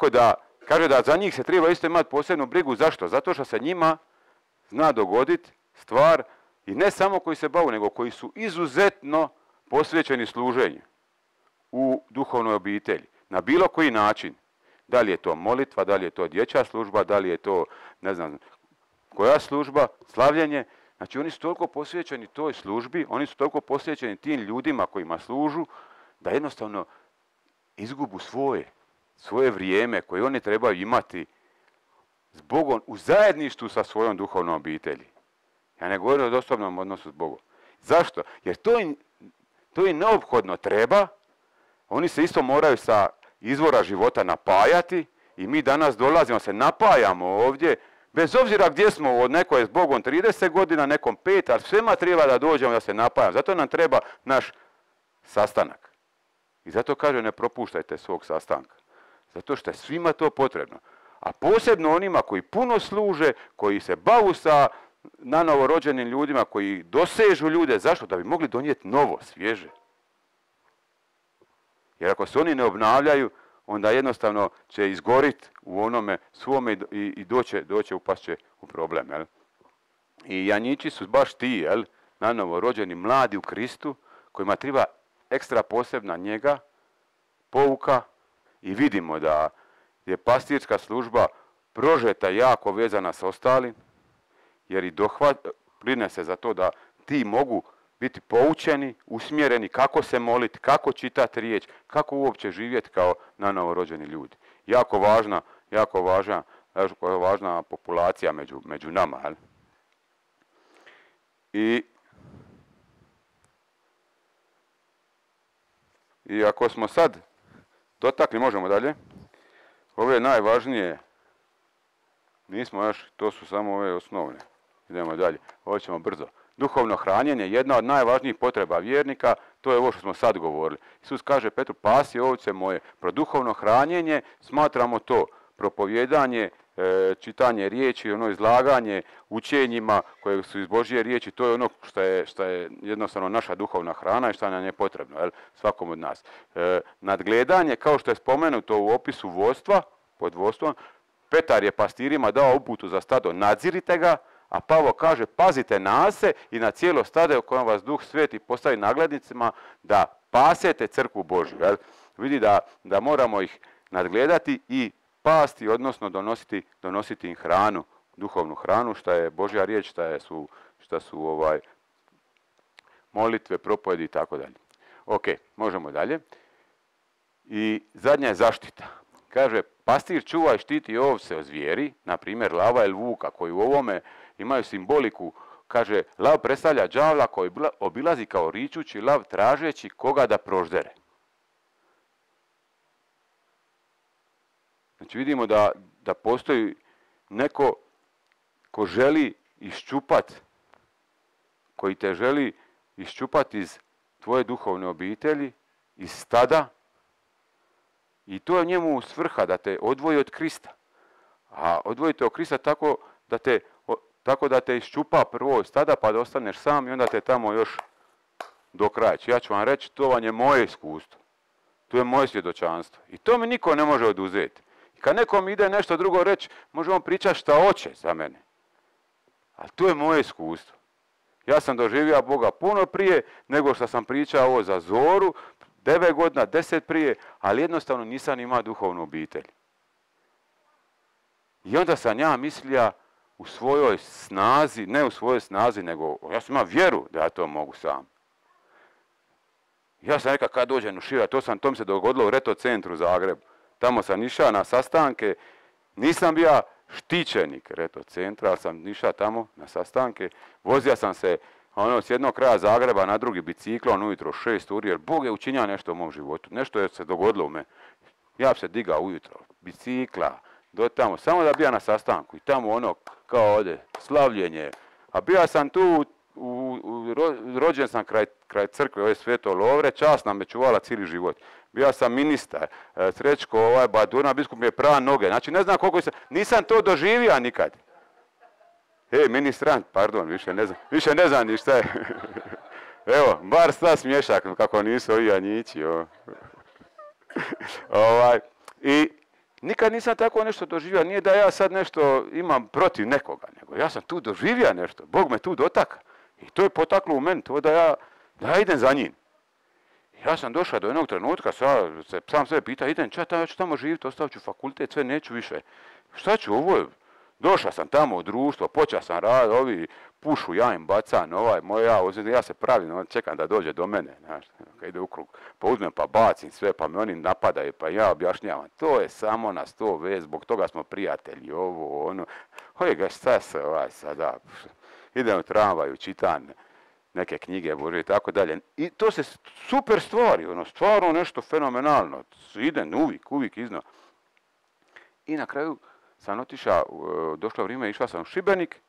da Kaže da za njih se treba isto imati posebnu brigu. Zašto? Zato što se njima zna dogoditi stvar i ne samo koji se bave, nego koji su izuzetno posvećeni služenju u duhovnoj obitelji. Na bilo koji način. Da li je to molitva, da li je to dječja služba, da li je to, ne znam, koja služba, slavljenje. Znači oni su toliko posvećeni toj službi, oni su toliko posvećeni tim ljudima kojima služu, da jednostavno izgubu svoje vrijeme koje oni trebaju imati s Bogom u zajedništvu sa svojom duhovnom obitelji. Ja ne govorim o osobnom odnosu s Bogom. Zašto? Jer to im neophodno treba. Oni se isto moraju sa izvora života napajati i mi danas dolazimo, se napajamo ovdje, bez obzira gdje smo, od neko je s Bogom 30 godina, nekom 5, ali svema treba da dođemo da se napajamo. Zato nam treba naš sastanak. I zato kaže ne propuštajte svog sastanka. Zato što je svima to potrebno. A posebno onima koji puno služe, koji se bavu sa nanovo rođenim ljudima, koji dosežu ljude. Zašto? Da bi mogli donijeti novo, svježe. Jer ako se oni ne obnavljaju, onda jednostavno će izgoriti u onome svome i doće upašće u problem. Jel? I janjići su baš ti, jel? Nanovo rođeni, mladi u Kristu, kojima treba ekstra posebna njega, pouka, i vidimo da je pastirska služba prožeta jako vezana s ostalim, jer i brine se za to da ti mogu biti poučeni, usmjereni kako se moliti, kako čitati riječ, kako uopće živjeti kao nanovorođeni ljudi. Jako važna populacija među nama. Jel? I ako smo sad dotakli, možemo dalje, ove najvažnije, nismo još, to su samo ove osnovne. Idemo dalje, ovo ćemo brzo. Duhovno hranjenje, jedna od najvažnijih potreba vjernika, to je ovo što smo sad govorili. Isus kaže Petru, pasi ovce moje. Pro duhovno hranjenje smatramo to propovijedanje, čitanje riječi, ono izlaganje učenjima koje su iz Božje riječi, to je ono što je jednostavno naša duhovna hrana i što nam je potrebno, jel, svakom od nas. Nadgledanje, kao što je spomenuto u opisu vodstva, pod vodstvom, Petar je pastirima dao uputu za stado, nadzirite ga, a Pavao kaže, pazite na se i na cijelo stado u kojem vas Duh Sveti postavi naglednicima da pasete crkvu Božju. Jel? Vidi da moramo ih nadgledati i pasti, odnosno donositi im hranu, duhovnu hranu, što je Božja riječ, šta su molitve, propovjedi i tako dalje. Ok, možemo dalje. I zadnja je zaštita. Kaže, pastir čuva i štiti ovce od zvijeri, na primjer lava ili vuka, koji u ovome imaju simboliku. Kaže, lav predstavlja đavla koji obilazi kao ričući lav tražeći koga da proždere. Znači vidimo da postoji neko ko želi iščupati, koji te želi iščupati iz tvoje duhovne obitelji, iz stada, i to je njemu svrha da te odvoji od Krista. A odvojite od Krista tako da te iščupa prvo iz stada pa da ostaneš sam i onda te tamo još do kraja. Ja ću vam reći, to vam je moje iskustvo. To je moje svjedočanstvo. I to mi niko ne može oduzeti. I kad nekom ide nešto drugo reći, možemo pričati šta hoće za mene. Ali to je moje iskustvo. Ja sam doživio Boga puno prije nego što sam pričao ovo za Zoru, 9 godina, 10 prije, ali jednostavno nisam imao duhovnu obitelj. I onda sam ja mislio u svojoj snazi, ne u svojoj snazi, nego ja sam imao vjeru da ja to mogu sam. Ja sam rekao kad dođem u Širak, to mi se dogodilo u Reto centru Zagrebu. Tamo sam išao na sastanke, nisam bio štićenik Reto centra, ali sam išao tamo na sastanke. Vozio sam se s jednog kraja Zagreba na drugi biciklom ujutro 6 uri, jer Bog je učinio nešto u mom životu. Nešto je se dogodilo u meni. Ja bi se digao ujutro, bicikla, do tamo, samo da bija na sastanku. I tamo kao ovdje, slavljenje. A bio sam tu, rođen sam kraj crkve, ove Sveto Lovre, čast nam je čuvala cijeli život. Bio sam ministar, Srećko, Badurna, biskup mi je prava noge. Znači ne znam koliko nisam to doživio nikad. Ministrant, pardon, više ne znam ni šta je. Evo, bar sta smješak, kako nisu ovi janjići. I Nikad nisam tako nešto doživio. Nije da ja sad nešto imam protiv nekoga, nego ja sam tu doživio nešto. Bog me tu dotaka. I to je potaklo u meni, to da ja idem za njim. Ja sam došao do jednog trenutka, sam sebe pita, idem, ja ću tamo živjeti, ostavit ću fakultet, sve neću više. Šta ću, došao sam tamo u društvo, počeo sam raditi, ovi pušu, ja im bacam, ja se pravim, čekam da dođe do mene, znaš, kad ide u krug, pa uzmem pa bacim sve, pa me oni napadaju, pa ja objašnjavam, to je samo na 100 vez, zbog toga smo prijatelji, ga šta se sada, idem u tramvaju, čitam neke knjige Bože i tako dalje. I to se super stvari, stvarno nešto fenomenalno, idem uvijek iznova. I na kraju sam otišao, došlo vrijeme, išao sam u Šibenik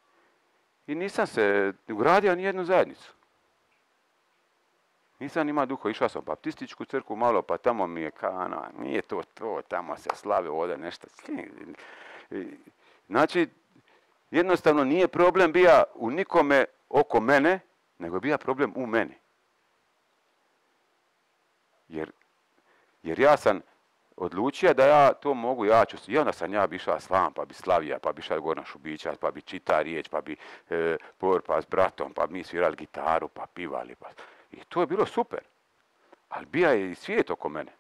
i nisam se ugradio ni jednu zajednicu. Nisam imao duho, išao sam u baptističku crkvu malo, pa tamo mi je nije to, tamo se slave ovdje nešto. Znači, jednostavno nije problem bio u nikome oko mene, nego je bio problem u meni. Jer ja sam odlučio da ja to mogu, i onda sam ja bi išao slam, pa bi slavija, pa bi išao Gorna Šubića, pa bi čita riječ, pa bi porpa s bratom, pa bi mi svirali gitaru, pa pivali. I to je bilo super. Ali bija je i svijet oko mene.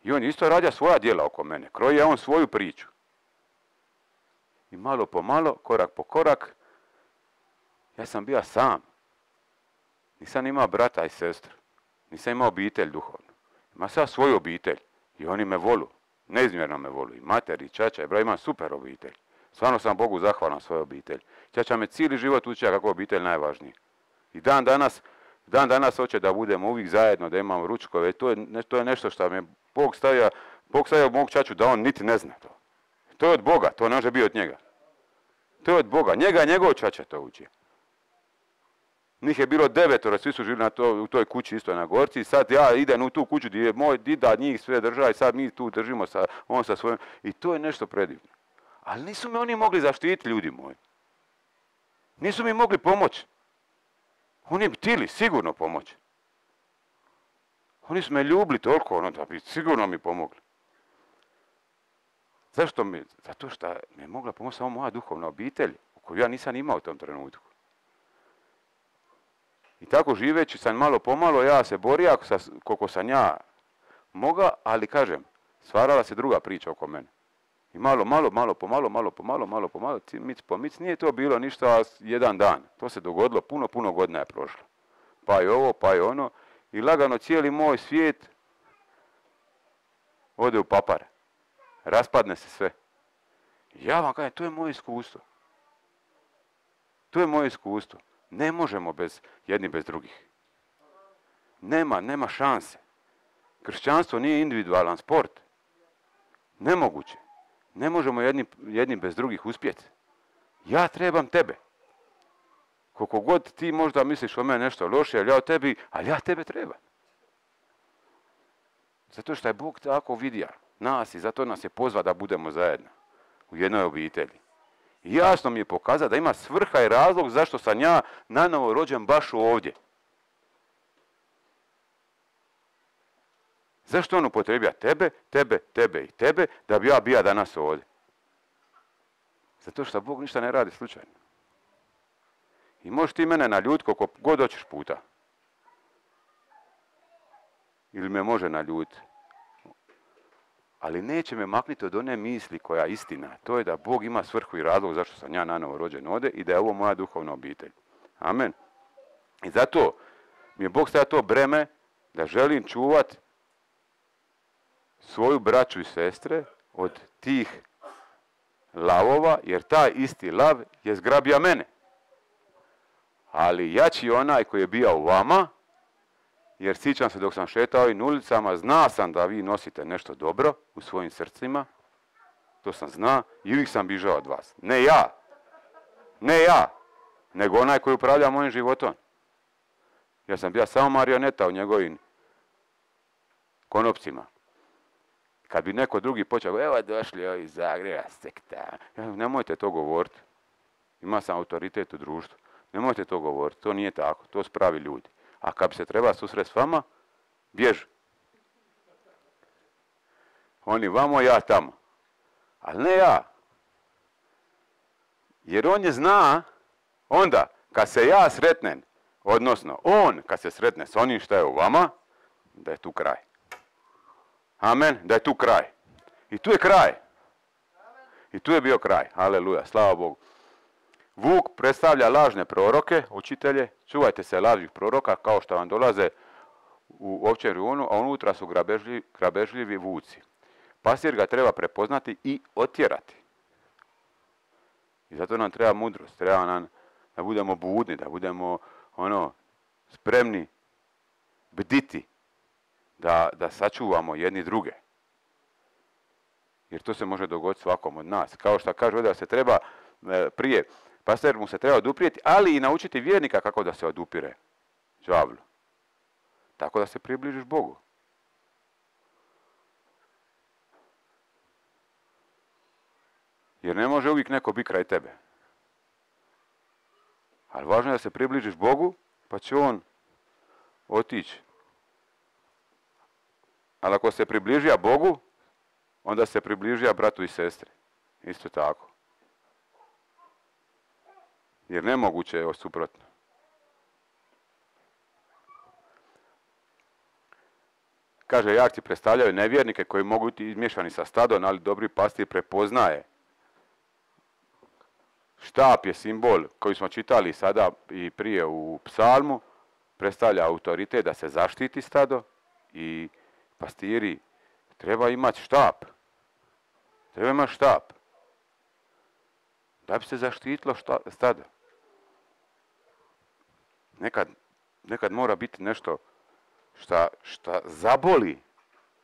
I on isto radio svoja djela oko mene. Kroji je on svoju priču. I malo po malo, korak po korak, ja sam bio sam. Nisam imao brata i sestru. Nisam imao obitelj duhovnu. Ima sad svoju obitelj. I oni me volu. Neizmjerno me volu. I mater, i čača, i imam super obitelj. Stvarno sam Bogu zahvalan svojoj obitelji. Čača me cijeli život učio kako je obitelj najvažniji. I dan danas hoće da budemo uvijek zajedno, da imamo ručkove. To je nešto što mi je Bog stavio mog čaču da on niti ne zna to. To je od Boga, to ne može biti od njega. To je od Boga. Njega njegov čača to uči. Njih je bilo 9, svi su živjeli u toj kući isto na Gorci. Sad ja idem u tu kuću gdje je moj dida njih sve država i sad mi tu držimo on sa svojim. I to je nešto predivno. Ali nisu me oni mogli zaštititi, ljudi moji. Nisu mi mogli pomoći. Oni bi htjeli sigurno pomoći. Oni su me ljubili toliko, da bi sigurno mi pomogli. Zašto mi? Zato što mi je mogla pomoći samo moja duhovna obitelj, koju ja nisam imao u tom trenutku. I tako živeći sam malo pomalo, ja se borio koliko sam ja mogao, ali kažem, stvarala se druga priča oko mene. I malo pomalo, mic po mic, nije to bilo ništa jedan dan. To se dogodilo, puno godina je prošlo. Pa je ovo, pa je ono. I lagano cijeli moj svijet ode u papare. Raspadne se sve. Ja vam kažem, to je moje iskustvo. To je moje iskustvo. Ne možemo jedni bez drugih. Nema šanse. Kršćanstvo nije individualan sport. Nemoguće. Ne možemo jedni bez drugih uspjeti. Ja trebam tebe. Koliko god ti možda misliš o mene nešto loše, ali ja tebe trebam. Zato što je Bog tako vidio nas i zato nas je pozvao da budemo zajedno u jednoj obitelji. I jasno mi je pokazao da ima svrha i razlog zašto sam ja nanovo rođen baš ovdje. Zašto on upotrebija tebe i tebe da bi ja bio danas ovdje? Zato što Bog ništa ne radi slučajno. I možeš ti mene naljutiti koliko god hoćeš puta. Ili me može naljutiti. Ali neće me maknuti od one misli koja je istina. To je da Bog ima svrhu i razlog zašto sam ja nanovo rođen ovdje i da je ovo moja duhovna obitelj. Amen. I zato mi je Bog stavio to breme da želim čuvati svoju braću i sestre od tih lavova, jer taj isti lav je zgrabio mene. Ali jači onaj koji je bio u vama, jer sjećam se dok sam šetao ovim ulicama, zna sam da vi nosite nešto dobro u svojim srcima, to sam zna i uvijek sam bižao od vas. Ne ja, nego onaj koji upravlja mojim životom. Ja sam bio samo marioneta u njegovim konopcima. Kad bi neko drugi počeo, evo došli ovi iz Zagreba, sekta. Nemojte to govoriti. Ima sam autoritet u društvu. Nemojte to govoriti, to nije tako, to su pravi ljudi. A kad bi se treba susreti s vama, bježi. Oni vamo, ja tamo. Ali ne ja. Jer on je zna, onda, kad se ja sretnem, odnosno on, kad se sretne s onim što je u vama, da je tu kraj. Amen, da je tu kraj. I tu je kraj. I tu je bio kraj. Aleluja, slava Bogu. Vuk predstavlja lažne proroke, učitelje, čuvajte se lažnih proroka kao što vam dolaze u ovčjem rujunu, a unutra su grabežljivi vuci. Pastir ga treba prepoznati i otjerati. I zato nam treba mudrost, treba nam da budemo budni, da budemo spremni bditi, da sačuvamo jedni druge. Jer to se može dogoditi svakom od nas. Kao što kaže ovdje da se treba prije, pastor mu se treba oduprijeti, ali i naučiti vjernika kako da se odupire đavlu. Tako da se približiš Bogu. Jer ne može uvijek neko biti kraj tebe. Ali važno je da se približiš Bogu, pa će on otići. Ali ako se približija Bogu, onda se približija bratu i sestri. Isto tako. Jer nemoguće je suprotno. Kaže, jarci predstavljaju nevjernike koji mogu biti izmiješani sa stadom, ali dobri pastir prepoznaje. Štap je simbol koji smo čitali sada i prije u psalmu, predstavlja autoritet da se zaštiti stado i pastiri treba imati štap. Treba imati štap. Da bi se zaštitilo stado. Nekad mora biti nešto šta zaboli.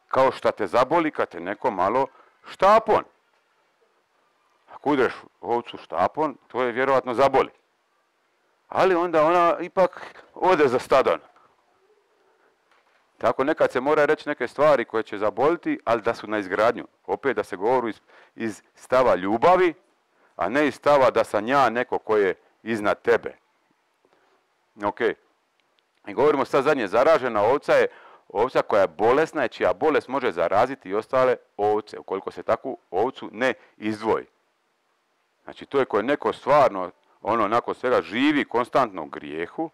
Kao šta te zaboli kad te neko malo štapon. Ako udreš ovcu štapon, to je vjerojatno zaboli. Ali onda ona ipak ode za stadon. Tako nekad se mora reći neke stvari koje će zaboliti, ali da su na izgradnju. Opet da se govori iz stava ljubavi, a ne iz stava da sam ja neko ko je iznad tebe. Ok. I govorimo sad zadnje, zaražena ovca je ovca koja je bolesna, čija bolest može zaraziti i ostale ovce, ukoliko se takvu ovcu ne izdvoji. Znači to je koje neko stvarno, nakon svega živi konstantno u grijehu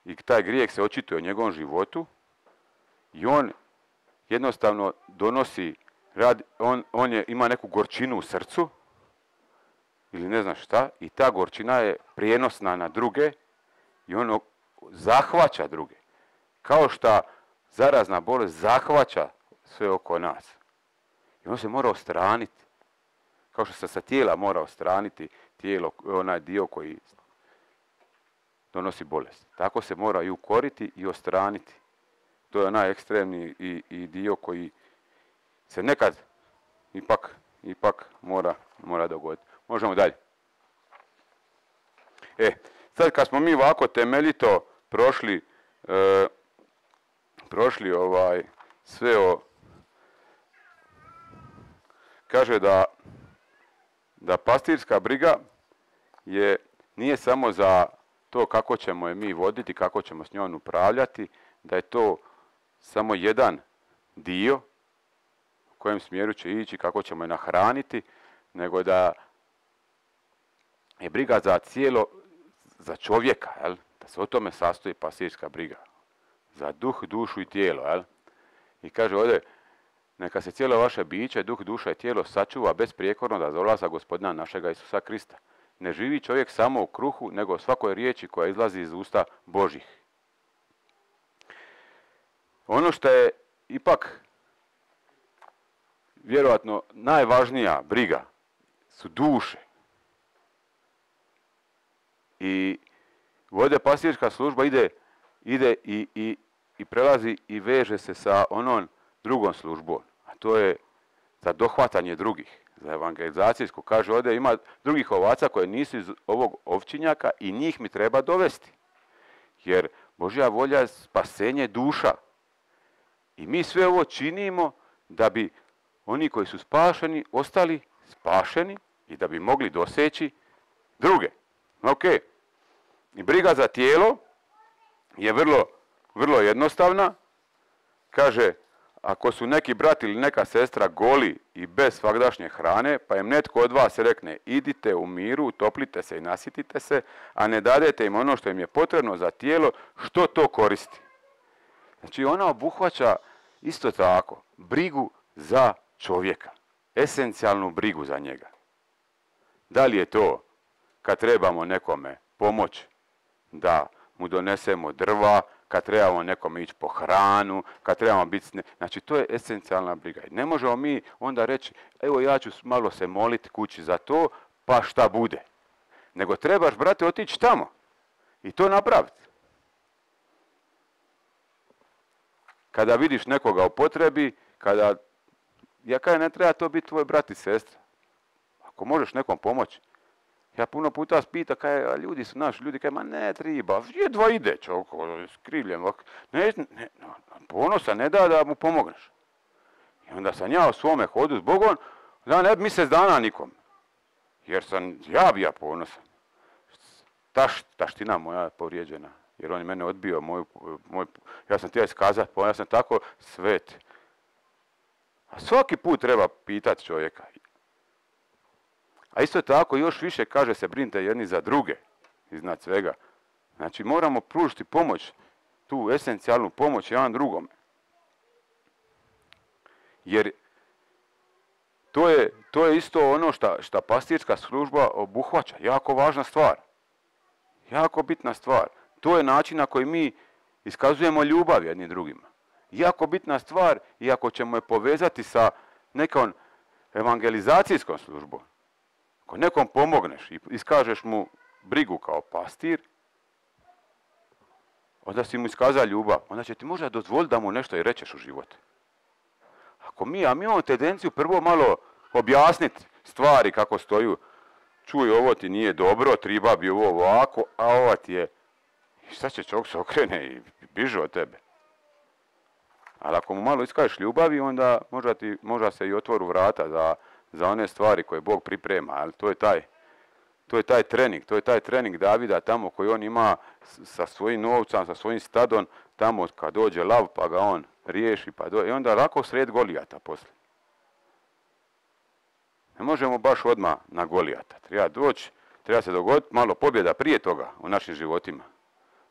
i taj grijeh se očituje u njegovom životu i on jednostavno donosi, ima neku gorčinu u srcu ili ne znam šta i ta gorčina je prijenosna na druge i ono zahvaća druge. Kao što zarazna bolest zahvaća sve oko nas. I on se mora ostraniti. Kao što se sa tijela mora ostraniti tijelo, onaj dio koji donosi bolest. Tako se mora i ukoriti i ostraniti. To je onaj ekstremni i dio koji se nekad ipak mora dogoditi. Možemo dalje. Sad kad smo mi ovako temeljito prošli sve kaže da pastirska briga nije samo za to kako ćemo je mi voditi, kako ćemo s njom upravljati, da je to samo jedan dio u kojem smjeru će ići, kako ćemo je nahraniti, nego da je briga za čovjeka, jel? Da se o tome sastoji pastirska briga. Za duh, dušu i tijelo. Jel? I kaže ovdje, neka se cijelo vaše biće, duh, duša i tijelo sačuva besprijekorno da dolaza Gospodina našega Isusa Krista. Ne živi čovjek samo u kruhu, nego o svakoj riječi koja izlazi iz usta Božih. Ono što je ipak vjerojatno najvažnija briga su duše. I ovdje pastirska služba ide i prelazi i veže se sa onom drugom službom, a to je za dohvatanje drugih, za evangelizacijsku. Kaže ovdje ima drugih ovaca koje nisu iz ovog ovčinjaka i njih mi treba dovesti. Jer Božja volja je spasenje duša. I mi sve ovo činimo da bi oni koji su spašeni ostali spašeni i da bi mogli doseći druge. Ok. I briga za tijelo je vrlo jednostavna. Kaže, ako su neki brat ili neka sestra goli i bez svagdašnje hrane, pa im netko od vas rekne idite u miru, utoplite se i nasitite se, a ne dadete im ono što im je potrebno za tijelo, što to koristi? Znači ona obuhvaća isto tako brigu za čovjeka, esencijalnu brigu za njega. Da li je to kad trebamo nekome pomoći da mu donesemo drva, kad trebamo nekome ići po hranu, kad trebamo biti... Znači, to je esencijalna briga. Ne možemo mi onda reći, evo ja ću malo se moliti kući za to, pa šta bude. Nego trebaš, brate, otići tamo i to napraviti. Kada vidiš nekoga u potrebi, kada... Ja kažem, ne treba to biti tvoj brat i sestra. Ako možeš nekom pomoći. Ja puno puta pita, kaj, ljudi su naši, ljudi kaj, ma ne treba, jedva ide čovjek, skrivljen, ponosa ne da mu pomogneš. I onda sam ja u svome hodu s Bogom, da ne bi mjesec dana nikom. Jer sam ja ponosan. Taština moja povrijeđena, jer on je mene odbio, ja sam htio iskazati, ja sam tako svet. A svaki put treba pitati čovjeka. A isto tako još više kaže se brinite jedni za druge, iznad svega. Znači moramo pružiti pomoć, tu esencijalnu pomoć jedan drugome. Jer to je isto ono što pastirska služba obuhvaća. Jako važna stvar. Jako bitna stvar. To je način na koji mi iskazujemo ljubav jednim drugima. Jako bitna stvar i ako ćemo je povezati sa nekom evangelizacijskom službom. Ako nekom pomogneš i iskažeš mu brigu kao pastir, onda si mu iskazao ljubav, onda će ti možda dozvoliti da mu nešto i rečeš u život. A mi imamo tendenciju prvo malo objasniti stvari kako stoju. Čuj, ovo ti nije dobro, treba bi ovo ovako, a ova ti je... I šta će čovjek se okrene i biže od tebe. Ali ako mu malo iskažeš ljubavi, onda možda se i otvoru vrata za one stvari koje Bog priprema. Ali to je taj trening Davida tamo koji on ima sa svojim novcem, sa svojim stadom, tamo kad dođe lav pa ga on riješi i onda lako sred Golijata poslije. Ne možemo baš odmah na Golijata. Treba se dogoditi malo pobjeda prije toga u našim životima.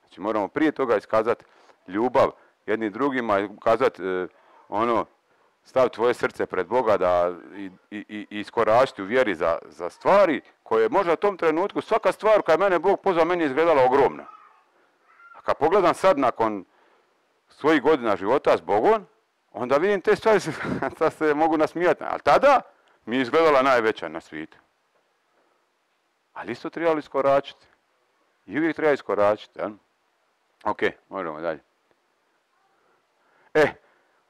Znači moramo prije toga iskazati ljubav jednim drugima i kazati stav tvoje srce pred Boga i iskoračiti u vjeri za stvari koje možda u tom trenutku, svaka stvar koja je mene Bog pozvao, meni je izgledala ogromna. A kad pogledam sad nakon svojih godina života s Bogom, onda vidim te stvari se mogu nasmijati. Ali tada mi je izgledala najveća na svijetu. Ali isto trebalo iskoračiti. I uvijek treba iskoračiti. Ja? Ok, možemo dalje.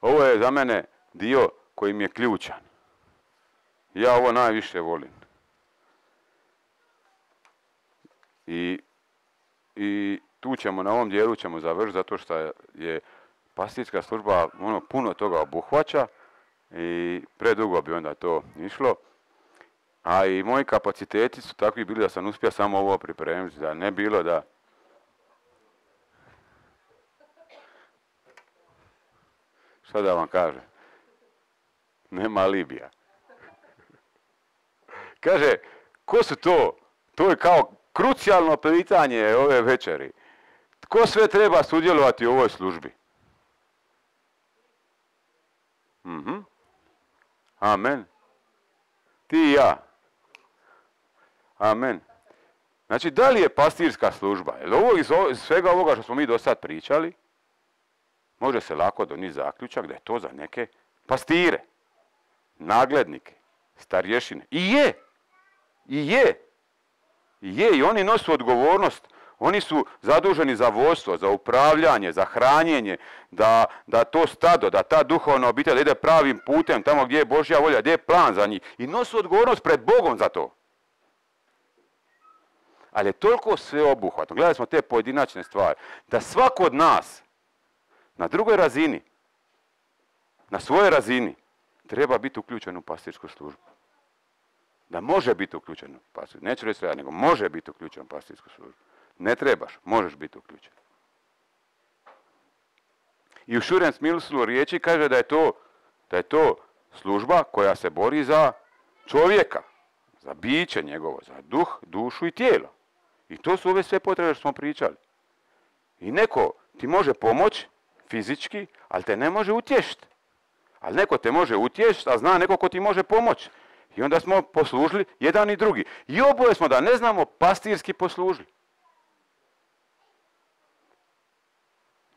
Ovo je za mene dio koji mi je ključan. Ja ovo najviše volim. I tu ćemo, na ovom dijelu ćemo završiti zato što je pastirska služba puno toga obuhvaća i predugo bi onda to išlo. A i moji kapaciteti su takvi bili da sam uspio samo ovo pripremiti, da ne bilo da... Šta da vam kažem? Nema alibija. Kaže, ko su to? To je kao krucijalno pitanje ove večeri. Tko sve treba sudjelovati u ovoj službi? Amen. Ti i ja. Amen. Znači, da li je pastirska služba? Iz svega ovoga što smo mi do sad pričali, može se lako donijeti zaključak da je to za neke pastire, naglednike, starješine. I oni nosu odgovornost. Oni su zaduženi za vodstvo, za upravljanje, za hranjenje, da to stado, da ta duhovna obitelj ide pravim putem, tamo gdje je Božja volja, gdje je plan za njih. I nosu odgovornost pred Bogom za to. Ali je toliko sveobuhvatno. Gledali smo te pojedinačne stvari. Da svako od nas na drugoj razini, na svojoj razini, treba biti uključen u pastirsku službu. Da može biti uključen u pastirsku službu. Neću reći sve, nego može biti uključen u pastirsku službu. Ne trebaš, možeš biti uključen. I u širem smislu riječi kaže da je to služba koja se bori za čovjeka, za biće njegovo, za duh, dušu i tijelo. I to su ove sve potrebe što smo pričali. I neko ti može pomoći fizički, ali te ne može utješiti. Ali neko te može utješiti, a zna neko ko ti može pomoći. I onda smo poslužili jedan i drugi. I oboje smo, da ne znamo, pastirski poslužili.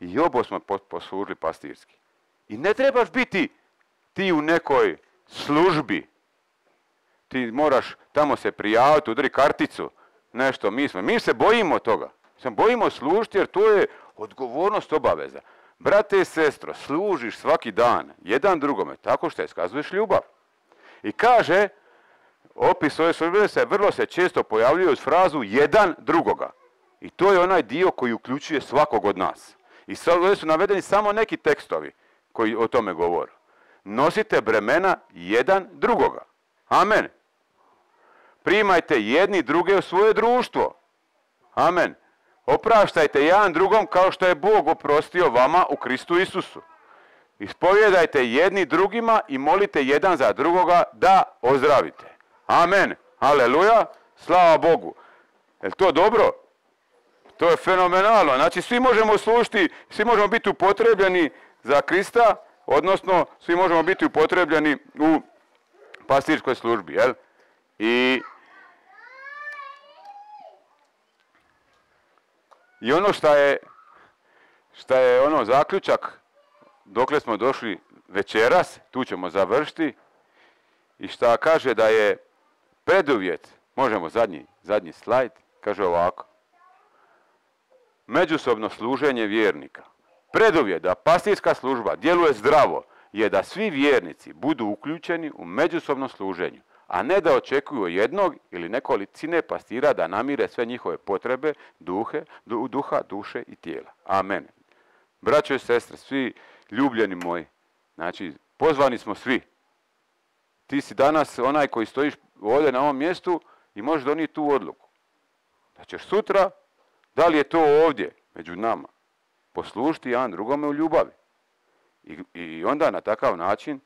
I oboje smo poslužili pastirski. I ne trebaš biti ti u nekoj službi. Ti moraš tamo se prijaviti, udri karticu, nešto. Mi se bojimo toga. Se bojimo služiti jer to je odgovornost, obaveza. Brate i sestro, služiš svaki dan jedan drugome tako što iskazuješ ljubav. I kaže, opis ove službe vrlo se često pojavljuje uz frazu jedan drugoga. I to je onaj dio koji uključuje svakog od nas. I sad ovdje su navedeni samo neki tekstovi koji o tome govore. Nosite bremena jedan drugoga. Amen. Primajte jedni druge u svoje društvo. Amen. Opraštajte jedan drugom kao što je Bog oprostio vama u Kristu Isusu. Ispovjedajte jedni drugima i molite jedan za drugoga da ozdravite. Amen. Aleluja. Slava Bogu. Je li to dobro? To je fenomenalno. Znači svi možemo služiti, svi možemo biti upotrebljeni za Krista, odnosno svi možemo biti upotrebljeni u pastirskoj službi. Jel? I ono šta je ono zaključak, dokle smo došli večeras, tu ćemo završiti, i šta kaže da je preduvjet, možemo zadnji slajd, kaže ovako. Međusobno služenje vjernika. Preduvjet da pastirska služba djeluje zdravo je da svi vjernici budu uključeni u međusobnom služenju, a ne da očekuju jednog ili nekolicine pastira da namire sve njihove potrebe, duha, duše i tijela. Amen. Braćo i sestre, svi ljubljeni moji, znači pozvani smo svi. Ti si danas onaj koji stojiš ovdje na ovom mjestu i možeš donijeti tu odluku. Da ćeš sutra, da li je to ovdje među nama, poslužiti jedan drugome u ljubavi. I onda na takav način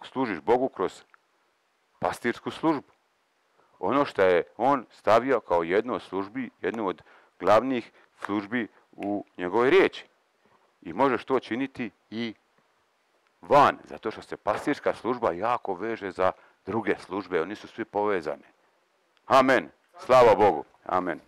služiš Bogu kroz pastirsku službu. Ono što je on stavio kao jednu od službi, jednu od glavnih službi u njegovoj riječi. I možeš to činiti i van, zato što se pastirska služba jako veže za druge službe, oni su svi povezani. Amen. Slava Bogu. Amen.